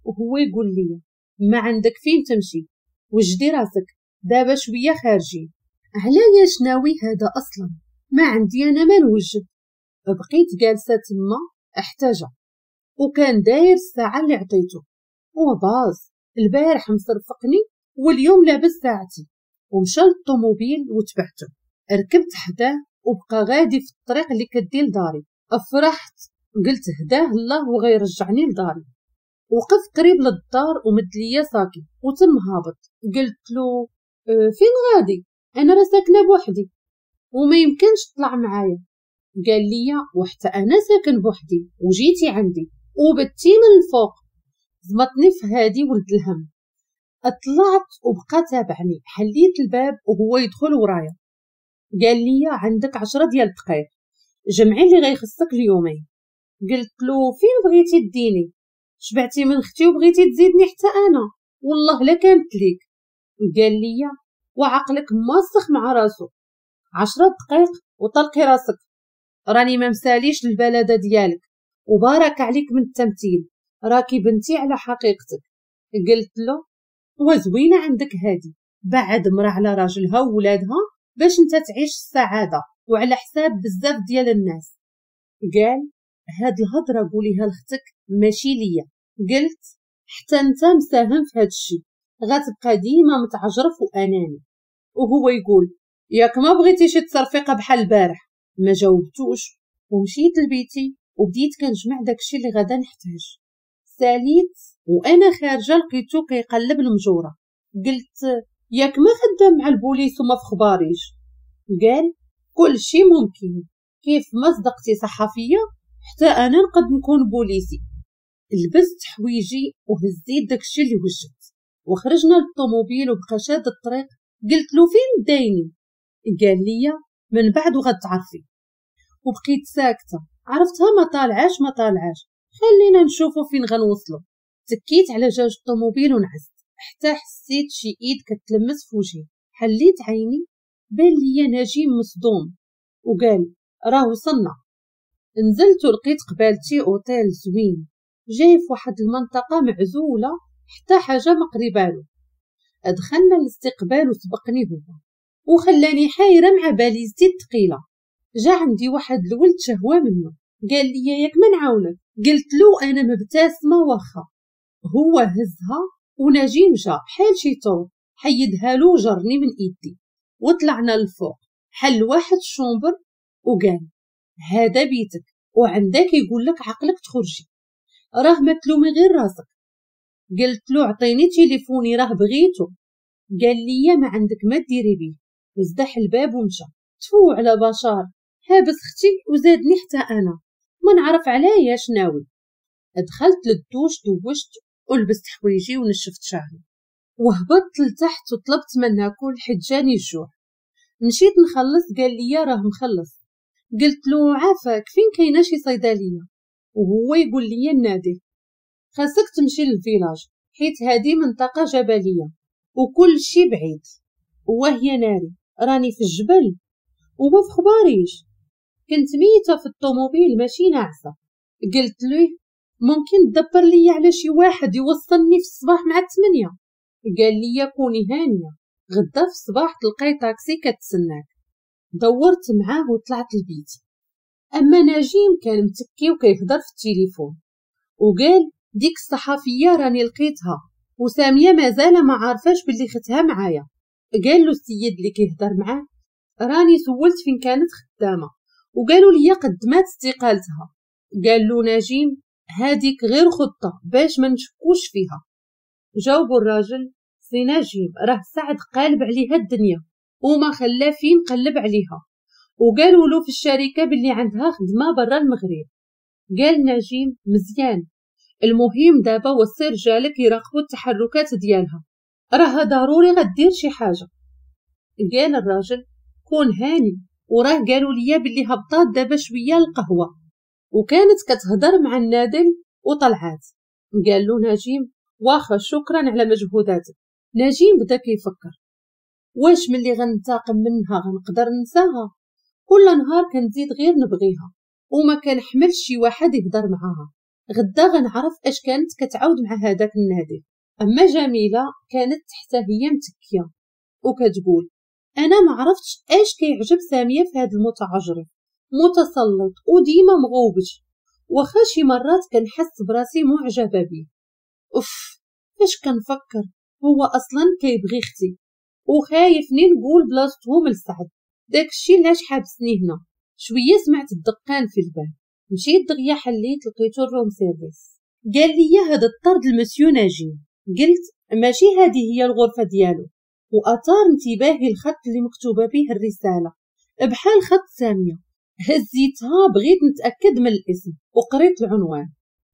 وهو يقول لي ما عندك فين تمشي، وجدي راسك دابا شوية خارجين. علاش ناوي هذا اصلا؟ ما عندي انا ما نوجد. بقيت جالسة تما احتاجه، وكان داير الساعة اللي عطيته وباز البارح مصرفقني واليوم لابس ساعتي. ومشى للطوموبيل وتبعته، ركبت حداه وبقى غادي في الطريق اللي كدي لداري. افرحت قلت هداه الله وغيرجعني لداري. وقف قريب للدار ومد ليا ساكي وتم هابط. قلت له فين غادي؟ انا راه ساكنة بوحدي وما يمكنش تطلع معايا. قال لي وحتى انا ساكن بوحدي وجيتي عندي وبتي من الفوق. زمطني في هادي ولد الهم. طلعت وبقى تابعني، حليت الباب وهو يدخل ورايا. قال لي عندك 10 ديال الدقائق، جمعي اللي غيخصك اليومين. قلت له فين بغيتي تديني؟ شبعتي من اختي وبغيتي تزيدني حتى انا؟ والله لا كانت ليك. قال لي وعقلك ماسخ مع راسو، 10 دقائق وطلقي راسك، راني ما مساليش البلده ديالك، وبارك عليك من التمثيل، راكي بنتي على حقيقتك. قلت له وزوينه عندك هادي، بعد مرا على راجلها وولادها باش انت تعيش السعادة وعلى حساب بزاف ديال الناس. قال هاد الهضرة قوليها لختك ماشي ليا. قلت حتى انت مساهم في هاد الشي، غتبقى ديما متعجرف واناني. وهو يقول ياك ما بغيتي شي تصرفيقه بحال البارح. ما جاوبتوش ومشيت لبيتي وبديت كنجمع داكشي اللي غادا نحتاج. ساليت وانا خارجه لقيتو كيقلب المجوره. قلت ياك ما خدام مع البوليس وما في خباريش. قال كل شي ممكن، كيف ما صدقتي صحفية حتى انا نقد نكون بوليسي. لبست حويجي وهزيت داكشي اللي وجدت وخرجنا للطوموبيل وبقى شاد الطريق. قلت له فين دايني؟ قال لي من بعد وغتعرفي. وبقيت ساكته، عرفتها ما طالعاش ما طالعاش، خلينا نشوفوا فين غنوصلوا. تكيت على جاج الطوموبيل ونعست حتى حسيت شي ايد كتلمس في وجهي. حليت عيني بان لي نجيم مصدوم وقال راه وصلنا. نزلت ولقيت قبالتي اوتيل زوين جاي في واحد المنطقة معزولة حتى حاجة ما قريبالو. دخلنا الاستقبال وسبقني هو وخلاني حايره مع باليزتي الثقيلة. جا عندي واحد الولد شهوة منه، قال لي ياك ما نعاونك. قلت له انا مبتسمة واخا. هو هزها ونجيم جا بحال شي طور حيدها له وجرني من ايدي وطلعنا للفوق. حل واحد ال chambre وقال هذا بيتك وعندك يقول لك عقلك تخرجي، راه ما تلومي غير راسك. قلت له عطيني تليفوني راه بغيتو. قال لي ما عندك ما ديري بيه، وزدح الباب ومشى. تفو على بشار، حابس اختي وزادني حتى انا ما نعرف علاش ناوي. دخلت للدوش دوشت ولبست حوايجي ونشفت شعري وهبطت لتحت وطلبت ما ناكل حيت جاني الجوع. مشيت نخلص قال لي راه مخلص. قلت له عافاك فين كاينه شي صيدلية؟ وهو يقول لي النادي خاصك تمشي لل village حيت هذه منطقة جبلية وكل شي بعيد. وهي ناري راني في الجبل وما في خباريش. كنت ميته في الطوموبيل ماشي ناعسه. قلت له ممكن تدبر لي على شي واحد يوصلني في الصباح مع 8؟ قال لي كوني هانيه، غدا في الصباح تلقاي طاكسي كتسناك. دورت معاه وطلعت لبيتي. اما نجيم كان متكي وكيهضر في التليفون وقال ديك الصحفية راني لقيتها وساميه مازال ما عارفاش باللي ختها معايا. قال له السيد اللي كيهضر معاه راني سولت فين كانت خدامه وقالوا لي قدمات استقالتها. قال له نجيم هذيك غير خطه باش ما نشكوش فيها. جاوبوا الراجل سي نجيم راه سعد قالب عليها الدنيا وما خلا فين قلب عليها، وقالوا له في الشركة باللي عندها خدمة برا المغرب. قال نجيم مزيان، المهم دابا وصي رجالك يراقبوا التحركات ديالها، راه ضروري غدير شي حاجة. قال الراجل كون هاني، وراه قالوا لي باللي هبطات دابا شوية القهوة وكانت كتهضر مع النادل وطلعات. قال له نجيم واخا شكرا على مجهوداتك. نجيم بدا كيفكر واش ملي غنتاقم منها غنقدر ننساها؟ كل نهار كنزيد غير نبغيها وما كنحملش شي واحد يهضر معاها. غدا غنعرف اش كانت كتعاود مع هذاك النادل. اما جميلة كانت حتى هي متكيه وكتقول انا ما عرفتش اش كيعجب سامية في هذا المتعجرف، متسلط وديما مغوبش، واخا شي مرات كنحس براسي معجبه بيه. اوف فاش كنفكر هو اصلا كيبغي اختي وخايفني نقول بلاصتهم لسعد، داكشي علاش حابسني هنا. شوية سمعت الدقان في الباب، مشيت دغيا حليت لقيتو ال room service. قال لي هذا الطرد المسيو نجيم. قلت ماشي هذه هي الغرفة ديالو. واثار انتباهي الخط اللي مكتوبة به الرسالة بحال خط سامية. هزيتها بغيت نتاكد من الاسم وقريت العنوان،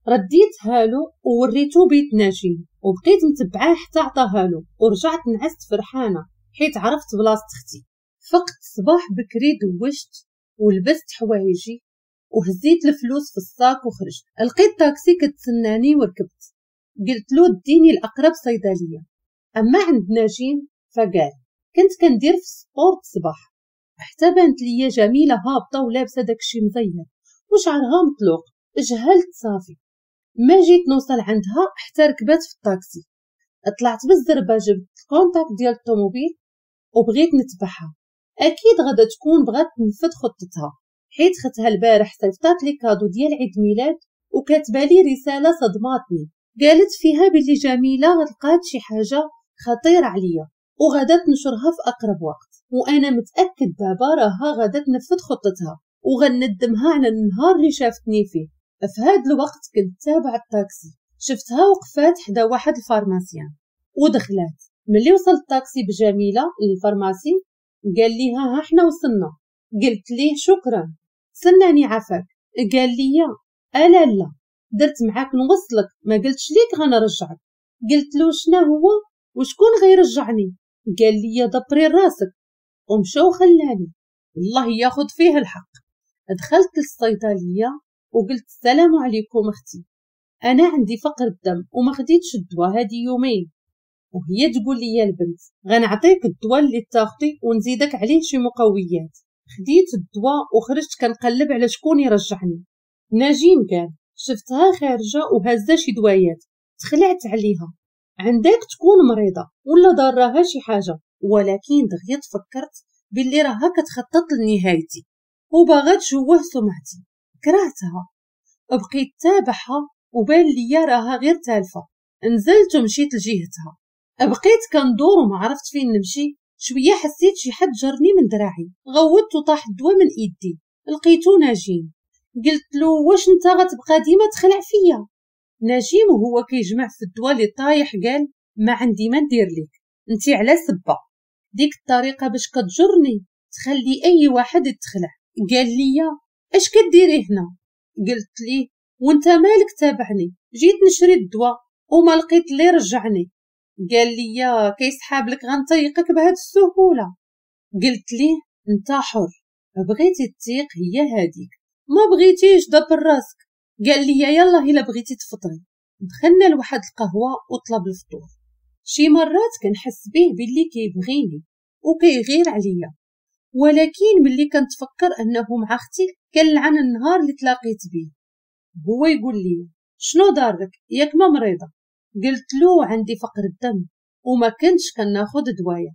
رديتها له ووريتو بيت نجيم وبقيت متبعاه حتى عطاها له. ورجعت نعست فرحانة حيت عرفت بلاصة اختي. فقت صباح بكري دوشت ولبست حوايجي وهزيت الفلوس في ال sac وخرجت. لقيت طاكسي كتسناني وركبت. قلت له ديني الاقرب صيدلية. اما عند نجيم فقال كنت كندير في ال sport الصباح حتى بانت ليا جميلة هابطة ولابسه داكشي مزير وشعرها مطلوق، جهلت صافي. ما جيت نوصل عندها حتى ركبات في الطاكسي. طلعت بالزربه جبت ال contact ديال الطوموبيل وبغيت نتبعها، اكيد غادا تكون بغات تنفذ خطتها، حيت ختها البارح صيفطات لي cadeau ديال عيد ميلاد وكاتبه لي رسالة صدماتني، قالت فيها بلي جميلة غتلقات شي حاجة خطيرة عليا وغادا تنشرها في اقرب وقت، وانا متاكد دابا راها غادا تنفذ خطتها وغندمها على النهار اللي شافتني فيه. في هذا الوقت كنت تابع الطاكسي، شفتها وقفات حدا واحد ال pharmacien ودخلات. ملي وصل الطاكسي بجميله لل pharmacie قال ليها ها حنا وصلنا. قلت ليه شكرا، سناني عافاك. قال لي الا لا درت معاك نوصلك، ما قلتش ليك غنرجعك. قلت له شنو هو وشكون غيرجعني؟ قال لي دبري راسك، ومشى وخلاني. الله ياخذ فيه الحق. دخلت للصيدليه وقلت السلام عليكم اختي، انا عندي فقر الدم وما خديتش الدواء هادي يومين. وهي تقول لي يا البنت غنعطيك الدواء اللي تاخدي ونزيدك عليه شي مقويات. خديت الدواء وخرجت كنقلب على شكون يرجعني. نجيم قال شفتها خارجه وهزه شي دوايات، تخلعت عليها، عندك تكون مريضه ولا ضاراها شي حاجة، ولكن دغيا تفكرت باللي راها كتخطط لنهايتي وباغا تشوه سمعتي. كرهتها، بقيت تابعها وبان ليا راها غير تالفه. نزلت ومشيت لجهتها، بقيت كندور وما عرفت فين نمشي. شوية حسيت شي حد جرني من دراعي، غوت وطاح الدواء من ايدي، لقيتو نجيم. قلت له واش انت غتبقى ديما تخلع فيا؟ نجيم وهو كيجمع في الدواء اللي طايح قال ما عندي ما ندير لك، انت على سبه، ديك الطريقة باش كتجرني تخلي اي واحد يتخلع. قال لي اش كديري هنا؟ قلت ليه وانت مالك تابعني، جيت نشري الدواء وما لقيت اللي رجعني. قال لي كيسحاب لك غنطيقك بهاد السهولة؟ قلت ليه انت حر، بغيتي تطيق هي هاديك، ما بغيتيش دبر راسك. قال لي يلا الا بغيتي تفطري. دخلنا لواحد القهوة وطلب الفطور. شي مرات كنحس به باللي كيبغيني وكيغير عليا، ولكن ملي كنتفكر انه مع اختي كنلعن النهار اللي تلاقيت به. هو يقول لي شنو دارك ياك ما مريضه؟ قلت له عندي فقر الدم وما كنتش كناخذ دوايا.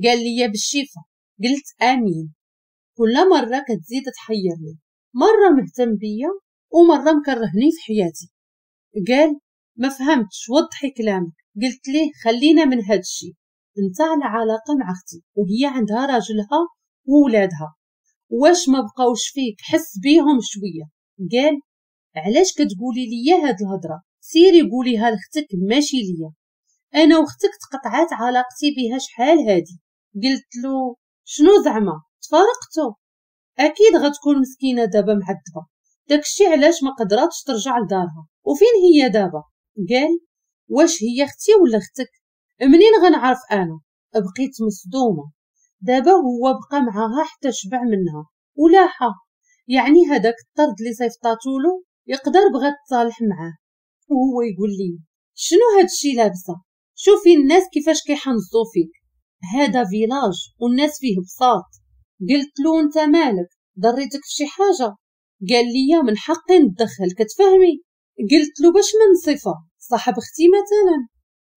قال لي بالشفا. قلت امين. كل مرة كتزيد تحيرني، مرة مهتم بيا ومرة مكرهني في حياتي. قال ما فهمتش، وضحي كلامك. قلت ليه خلينا من هاد الشيء، انت على علاقة مع اختي وهي عندها راجلها وولادها، واش ما بقاوش فيك؟ حس بيهم شوية. قال علاش كتقولي لي هاد الهضرة؟ سيري قوليها لاختك ماشي ليا، انا واختك تقطعات علاقتي بها شحال هادي. قلت له شنو زعما تفارقتو؟ اكيد غتكون مسكينه دابا معذبة، داكشي علاش ما قدراتش ترجع لدارها. وفين هي دابا؟ قال واش هي اختي ولا اختك؟ منين غنعرف انا؟ بقيت مصدومة. دابا هو بقى معاها حتى شبع منها ولاحه، يعني هذاك الطرد اللي صيفطاتولو يقدر بغات تصالح معاه. وهو يقول لي شنو هادشي لابسه؟ شوفي الناس كيفاش كيحنزو فيك، هذا village والناس فيه بساط. قلت له انت مالك، ضريتك في شي حاجة؟ قال لي من حقي نتدخل، كتفهمي؟ قلت له باش من صفة صاحب اختي مثلا؟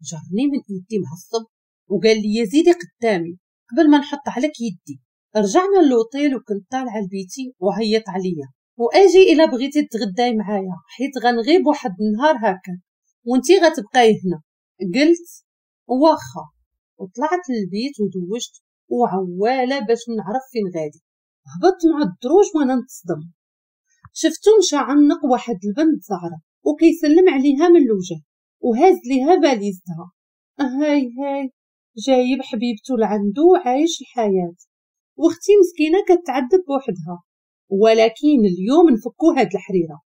جرني من ايدي معصب وقال لي زيدي قدامي قبل ما نحط عليك يدي. رجعنا للوطيل وكنت طالعه لبيتي وعيط عليا واجي الا بغيتي تغداي معايا حيت غنغيب واحد النهار هكا وانتي غتبقاي هنا. قلت واخا، وطلعت للبيت ودوشت وعواله باش نعرف فين غادي. هبطت مع الدروج وانا نتصدم، شفتو مشى عنق واحد البنت زعره وكيسلم عليها من الوجه وهاز ليها باليزتها. هاي هاي جايب حبيبته لعندو وعايش الحياة، واختي مسكينه كتعذب بوحدها. ولكن اليوم نفكو هاد الحريره.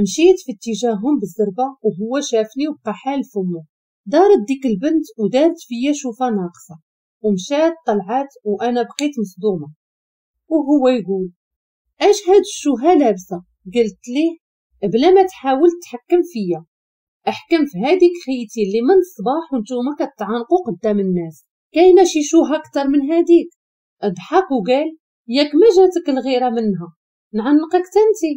مشيت في اتجاههم بالزربه وهو شافني وبقى حال فمه. دارت ديك البنت ودارت فيا شوفه ناقصه ومشات طلعات وانا بقيت مصدومة. وهو يقول اش هاد الشوهه لابسه؟ قلت ليه بلا ما تحاول تحكم فيا، احكم في هذيك خيتي اللي من الصباح وانتوما كتعانقوا قدام الناس، كاينه شي شوهه اكثر من هذيك؟ ضحك وقال ياك ما جاتك الغيرة منها، نعنقك تنتي.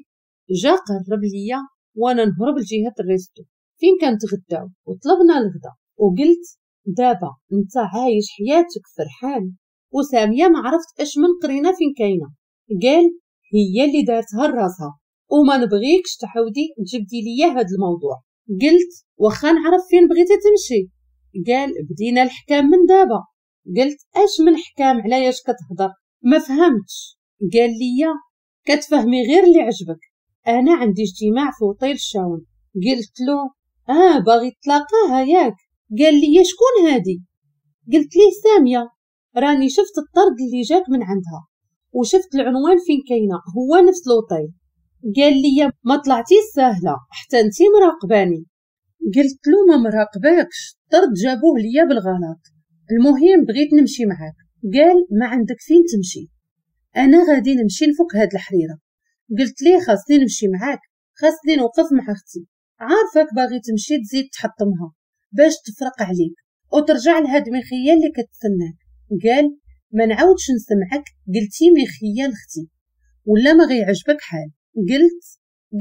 جا قرب ليا وانا نهرب لجهة ال resto فين كنتغداو، وطلبنا الغدا. وقلت دابا انت عايش حياتك فرحان، وساميه ما عرفت اش من قرينه فين كاينه. قال هي اللي دارتها لراسها وما نبغيكش تعاودي تجبدي ليا هذا الموضوع. قلت واخا نعرف فين بغيتي تمشي. قال بدينا الحكام من دابا. قلت اش من حكام، علاش كتهضر؟ ما فهمتش. قال لي كتفهمي غير اللي عجبك، انا عندي اجتماع في اوتيل الشاون. قلت له باغي تلاقاها ياك؟ قال لي شكون هادي؟ قلت ليه سامية، راني شفت الطرد اللي جاك من عندها وشفت العنوان فين كاينه، هو نفس لوطيل. قال لي ما طلعتي ساهله حتى انتي مراقباني. قلت له ما مراقباكش، الطرد جابوه ليا بالغلط، المهم بغيت نمشي معاك. قال ما عندك فين تمشي، انا غادي نمشي نفك هاد الحريره. قلت ليه خاصني نمشي معاك، خاصني نوقف مع اختي، عارفك باغي تمشي تزيد تحطمها باش تفرق عليك وترجع لهاد مخيه اللي كتسناك. قال ما نعاودش نسمعك قلتي مخيه لاختي ولا ما غيعجبك حال. قلت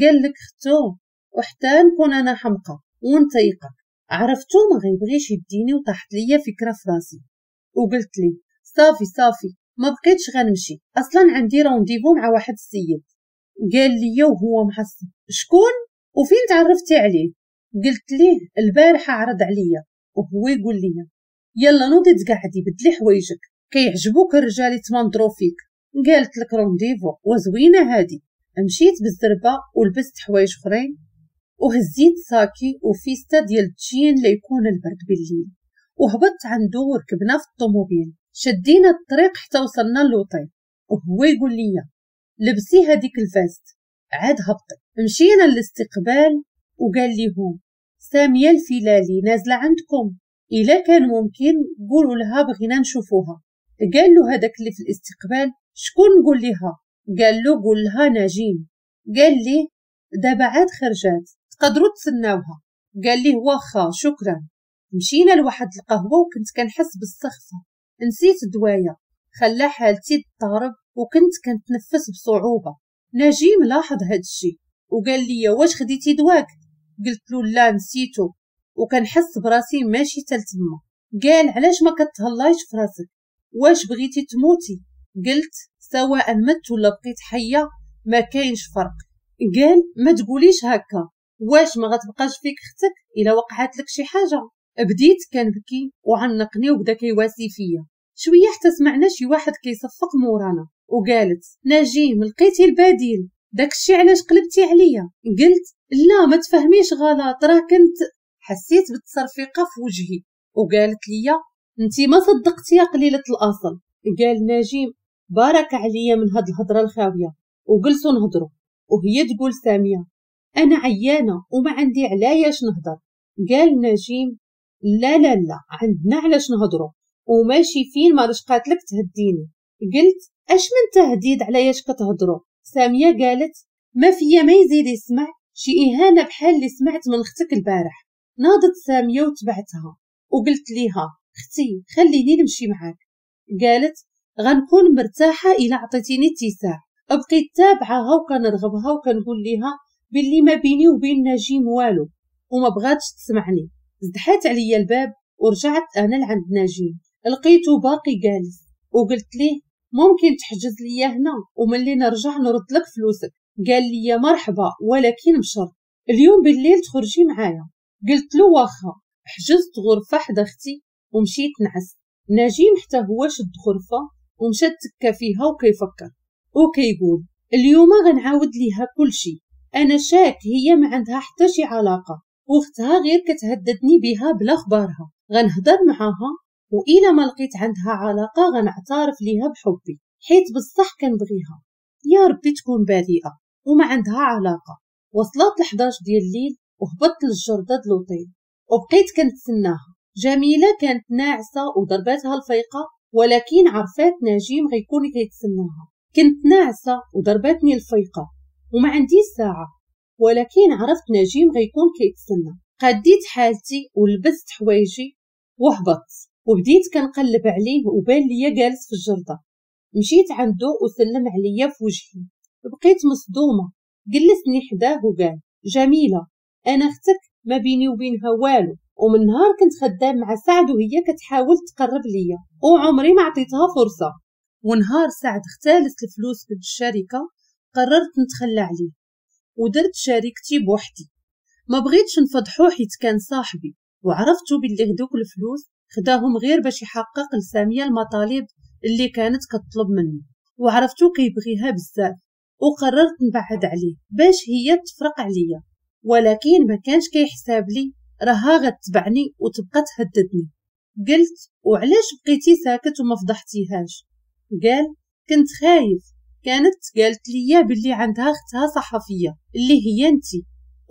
قال لك اختو وحتى نكون انا حمقى ونطيقك. عرفتو ما غيبغيش يديني وطاحت ليا فكرة في راسي. وقلت ليه صافي صافي ما بقيتش غنمشي، اصلا عندي rendez-vous مع واحد السيد. قال لي وهو معصب شكون وفين تعرفتي عليه؟ قلت ليه البارحة عرض عليا. وهو يقول لي يلا نوضي تقعدي بدلي حوايجك، كيعجبوك الرجال يتمنظروا فيك. قالت لك rendez-vous وزوينه هادي. مشيت بالزربه ولبست حوايج اخرين وهزيت ساكي وفيستا ديال الجين ليكون البرد بالليل، وهبطت عنده وركبنا في الطوموبيل. شدينا الطريق حتى وصلنا للوطيل، وهو يقول لي لبسي هذيك ال veste. عاد هبطي. مشينا للاستقبال وقال لهم سامية الفيلالي نازله عندكم، الا كان ممكن قولوا لها بغينا نشوفوها. قال له هذاك اللي في الاستقبال شكون نقول لها؟ قال له قول لها نجيم. قال لي دابا عاد خرجات تقدروا تسناوها. قال لي واخا شكرا. مشينا لواحد القهوة وكنت كنحس بالسخفه، نسيت دوايا خلى حالتي تضطرب وكنت كنتنفس بصعوبة. نجيم لاحظ هاد الشيء وقال لي واش خديتي دواك؟ قلت له لا نسيتو وكنحس براسي ماشي تلتما. قال علاش ما كتهلايش في راسك، واش بغيتي تموتي؟ قلت سواء مت ولا بقيت حيه ما كاينش فرق. قال ما تقوليش هكا، واش ما غتبقاش فيك اختك الا وقعت لك شي حاجة؟ بديت كنبكي وعنقني وبدا كيواسي فيا. شوية حتى سمعنا شي واحد كيصفق مورانا وقالت نجيم لقيتي البديل، داكشي علاش قلبتي عليا؟ قلت لا ما تفهميش غلط، راه كنت حسيت بالتصرفيقه في وجهي. وقالت لي انتي ما صدقتي يا قليله الاصل. قال نجيم بارك عليا من هاد الهضرة الخاويه. وجلسوا نهضروا وهي تقول سامية انا عيانه وما عندي علاش نهضر. قال نجيم لا لا لا عندنا علاش نهضروا وماشي فين ما رشقات لك تهديني. قلت اش من تهديد علاش كتهضروا؟ سامية قالت ما فيا ما يزيد يسمع شي اهانه بحال اللي سمعت من اختك البارح. ناضت سامية وتبعتها وقلت ليها اختي خليني نمشي معاك. قالت غنكون مرتاحة الا عطيتيني اتساع. بقيت تابعها وكنرغبها وكنقول ليها باللي ما بيني وبين نجيم والو وما بغاتش تسمعني. زدحات عليا الباب ورجعت انا لعند نجيم، لقيته باقي جالس وقلت ليه ممكن تحجز ليا هنا وملي نرجع نرد لك فلوسك. قال لي مرحبا ولكن بشرط اليوم بالليل تخرجي معايا. قلت له واخا. حجزت غرفة حدا اختي ومشيت نعس. نجيم حتى هو شد غرفة ومشى تكا فيها وكيفكر وكيقول اليوم غنعاود ليها كل شيء، انا شاك هي ما عندها حتى شي علاقة واختها غير كتهددني بها بلا خبارها، غنهضر معاها وإلا ما لقيت عندها علاقة غنعترف ليها بحبي حيت بصح كنبغيها، يا ربي تكون بريئة وما عندها علاقة. وصلت 11 ديال الليل وهبطت للجردة د لوطيل وبقيت كنتسناها. جميلة كانت ناعسه وضرباتها الفيقه ولكن عرفات نجيم غيكون كيتسناها. كنت ناعسه وضرباتني الفيقه وما عنديش ساعة ولكن عرفت نجيم غيكون كيتسنى. قديت حالتي ولبست حوايجي وهبطت وبديت كنقلب عليه وبان ليا جالس في الجردة. مشيت عنده وسلم عليا في وجهي، بقيت مصدومة. جلسني حداه وقال جميلة أنا اختك ما بيني وبينها والو، ومن نهار كنت خدام مع سعد وهي كتحاول تقرب ليا وعمري ما عطيتها فرصة. ونهار سعد اختلس الفلوس من الشركة قررت نتخلى عليه ودرت شركتي بوحدي. ما بغيتش نفضحو حيت كان صاحبي، وعرفتو باللي هدوك الفلوس خداهم غير باش يحقق لسامية المطالب اللي كانت كتطلب منه، وعرفتو كيبغيها بزاف وقررت نبعد عليه باش هي تفرق عليا. ولكن ما كانش كيحساب لي راها غتبعني وتبقى تهددني. قلت وعلاش بقيتي ساكت وما فضحتيهاش؟ قال كنت خايف، كانت قالت لي باللي عندها اختها صحفية اللي هي انتي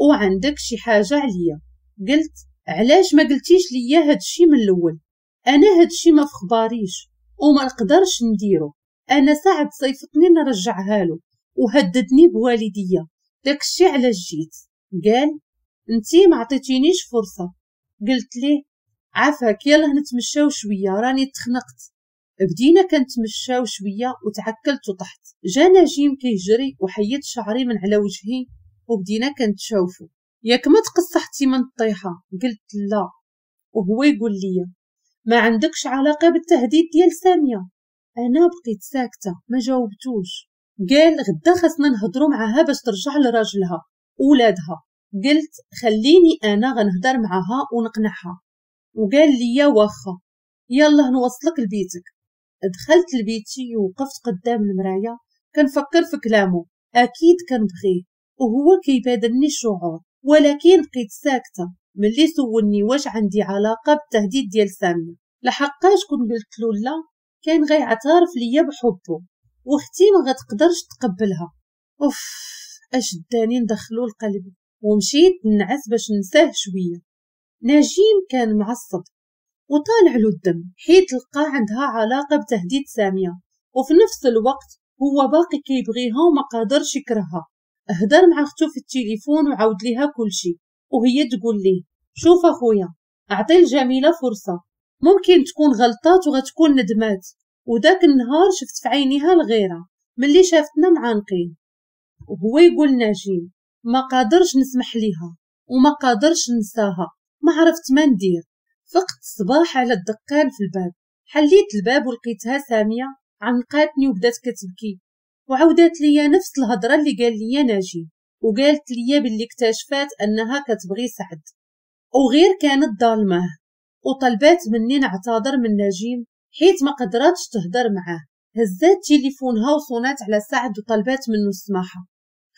وعندك شي حاجة عليا. قلت علاش ما قلتيش ليا هادشي من الاول؟ انا هادشي ما فخباريش وما نقدرش نديرو. انا سعد صيفطني نرجعها له وهددني بوالديا، داكشي علاش جيت. قال انتي ما عطيتينيش فرصة. قلت ليه عافاك يلا نتمشاو شوية راني تخنقت. بدينا كنتمشاو شوية وتعكلت وطحت. جا نجيم كيجري وحيد شعري من على وجهي وبدينا كنتشوفو. ياك ما تقصحتي من الطيحه؟ قلت لا. وهو يقول لي ما عندكش علاقة بالتهديد ديال سامية. انا بقيت ساكته ما جاوبتوش. قال غدا خاصنا نهضروا معاها باش ترجع لراجلها ولادها. قلت خليني انا غنهضر معاها ونقنعها. وقال لي واخا يلا نوصلك لبيتك. دخلت لبيتي ووقفت قدام المراية كنفكر في كلامه، اكيد كنبغيه وهو كيبادلني الشعور، ولكن بقيت ساكته ملي سولني واش عندي علاقة بالتهديد ديال سامية. لحقاش كون قلت له لا كان غيعترف ليا بحبه واختي ما غتقدرش تقبلها. اوف اش داني ندخلو لقلبي. ومشيت نعس باش ننساه شوية. نجيم كان معصب وطالع له الدم حيت لقى عندها علاقة بتهديد سامية، وفي نفس الوقت هو باقي كيبغيها وما قادرش يكرهها. هدر مع اختو في التليفون وعاود ليها كلشي، وهي تقول ليه شوف اخويا اعطي الجميلة فرصة، ممكن تكون غلطات وغتكون ندمات. وداك النهار شفت في عينيها الغيرة ملي شافتنا معانقين. وهو يقول نجيم ما قادرش نسمح ليها وما قادرش ننساها، ما عرفت ما ندير. فقت الصباح على الدقان في الباب، حليت الباب ولقيتها سامية عنقاتني وبدات كتبكي وعاودات ليا نفس الهضرة اللي قال ليا ناجي، وقالت ليا باللي اكتشفات انها كتبغي سعد وغير كانت ظالماه، وطلبات مني نعتذر من نجيم حيت ما قدراتش تهضر معاه. هزات تليفونها وصونات على سعد وطلبات منه السماحة.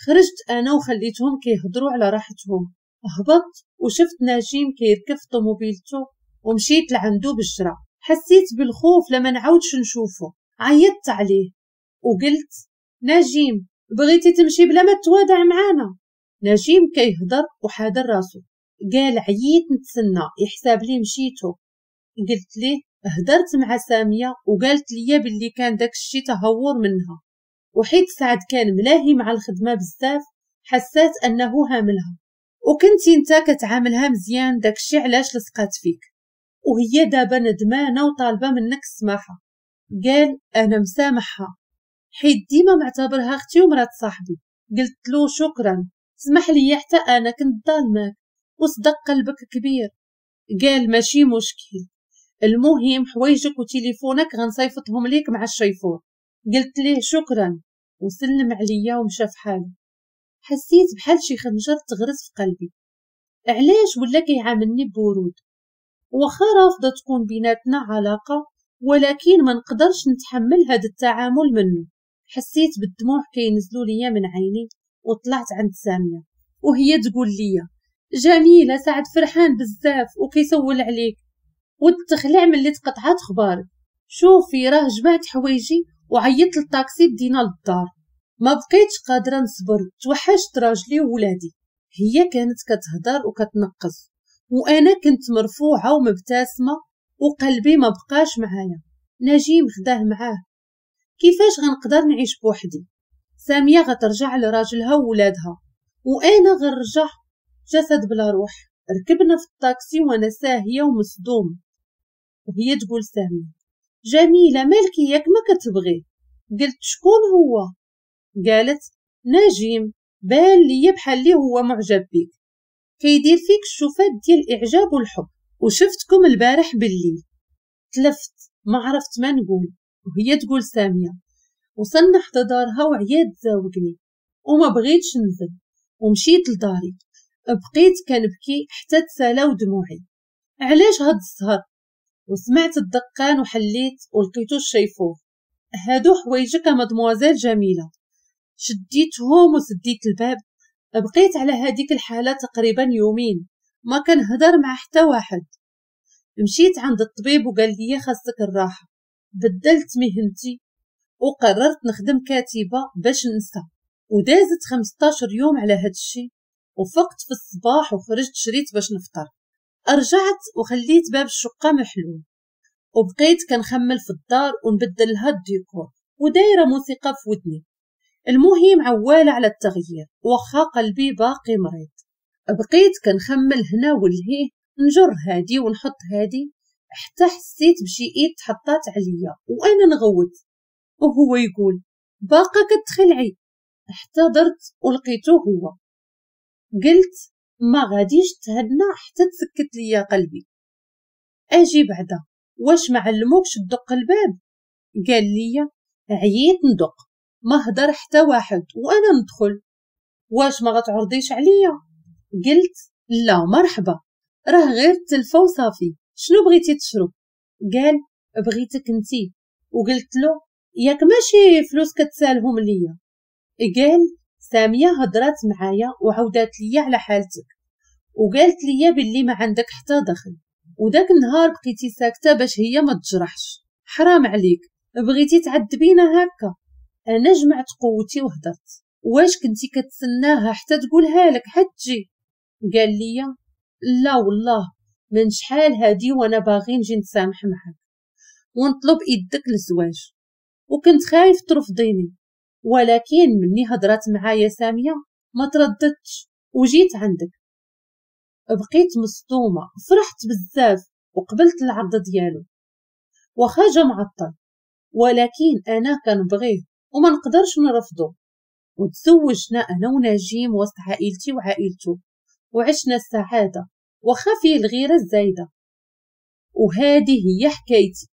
خرجت انا وخليتهم كيهضروا على راحتهم. هبطت وشفت نجيم كيركب في طوموبيلته ومشيت لعندو بالجرا. حسيت بالخوف لما نعاودش نشوفه. عيطت عليه وقلت نجيم بغيتي تمشي بلا ما توادع معانا؟ نجيم كيهضر وحادر راسو، قال عييت نتسنى يحساب لي مشيتو. قلت ليه هدرت مع سامية وقالت لي باللي كان داك الشي تهور منها، وحيت سعد كان ملاهي مع الخدمة بزاف حسات انه هاملها، وكنتي انت كتعاملها مزيان داكشي علاش لصقات فيك، وهي دابا ندمانه وطالبه منك السماحة. قال انا مسامحها حيت ديما معتبرها اختي ومرات صاحبي. قلت له شكرا سمح لي حتى انا كنت ظالماك وصدق قلبك كبير. قال ماشي مشكل، المهم حوايجك وتليفونك غنصيفطهم ليك مع الشيفور. قلت ليه شكرا وسلم عليا ومشى في حاله. حسيت بحال شي خنجر تغرس في قلبي. علاش ولا كيعاملني ببرود؟ واخا رافضه تكون بيناتنا علاقة، ولكن ما نقدرش نتحمل هذا التعامل منه. حسيت بالدموع كينزلوا ليا من عيني وطلعت عند سامية وهي تقول لي جميلة سعد فرحان بزاف وكيسول عليك وتخلع ملي تقطعات خبارك. شوفي راه جمعت حوايجي وعيطت للطاكسي دينا للدار. ما بقيتش قادرة نصبر، توحشت راجلي وولادي. هي كانت كتهضر وكتنقص وانا كنت مرفوعة ومبتسمه وقلبي ما بقاش معايا. نجيم خداه معاه، كيفاش غنقدر نعيش بوحدي؟ سامية غترجع لراجلها وولادها وانا غنرجع جسد بلا روح. ركبنا في الطاكسي وانا ساهيه ومصدومه، وهي تقول سامية جميلة مالكي ياك ما كتبغي؟ قلت شكون هو؟ قالت نجيم، بان ليا بحال اللي هو معجب بيك، كيدير فيك الشوفات ديال الاعجاب والحب، وشفتكم البارح بالليل. تلفت ما عرفت ما نقول، وهي تقول سامية وصلنا حدا دارها وعيات تزاوقني وما بغيتش ننزل، ومشيت لداري بقيت كنبكي حتى تسالاو دموعي. علاش هاد السهر؟ وسمعت الدقان وحليت ولقيتو الشيفور. هادو حوايجك مادموزيل جميلة. شديتهم وسديت الباب. بقيت على هذيك الحالة تقريبا يومين ما كنهضر مع حتى واحد. مشيت عند الطبيب وقال لي خاصك الراحة. بدلت مهنتي وقررت نخدم كاتبه باش ننسى. ودازت 15 يوم على هاد الشيء، وفقت في الصباح وخرجت شريت باش نفطر. رجعت وخليت باب الشقة محلول، وبقيت كنخمل في الدار ونبدل لها الديكور ودايره موسيقى في ودني. المهم عواله على التغيير واخا قلبي باقي مريض. بقيت كنخمل هنا ولهيه، نجر هادي ونحط هادي، حتى حسيت بشي ايد تحطات عليا وانا نغوت، وهو يقول باقا كتخلعي. حتى درت ولقيته هو. قلت ما غاديش تهنى حتى تسكت ليا قلبي. اجي بعدا واش ما علموكش تدق الباب؟ قال لي عييت ندق ما هدر حتى واحد وانا ندخل، واش ما غتعرضيش عليا؟ قلت لا مرحبا، راه غير التلفه وصافي، شنو بغيتي تشرب؟ قال بغيتك انتي. وقلت له ياك ماشي فلوس كتسالهم ليا؟ قال سامية هضرات معايا وعودات ليا على حالتك وقالت ليا باللي ما عندك حتى دخل، وداك النهار بقيتي ساكته باش هي ما تجرحش. حرام عليك، بغيتي تعذبينا هكا؟ انا جمعت قوتي وهضرت. واش كنتي كتسناها حتى تقولها لك حتى تجي؟ قال لي لا والله من شحال هادي وانا باغي نجي نتسامح معاك ونطلب يدك للزواج، وكنت خايف ترفضيني، ولكن مني هضرات معايا سامية ما ترددتش وجيت عندك. بقيت مصدومة، فرحت بزاف وقبلت العرض ديالو، واخا جا معطل ولكن انا كنبغيه وما نقدرش نرفضه. وتزوجنا انا ونجيم وسط عائلتي وعائلته، وعشنا السعادة واخا فيه الغيرة الزايدة. وهذه هي حكايتي.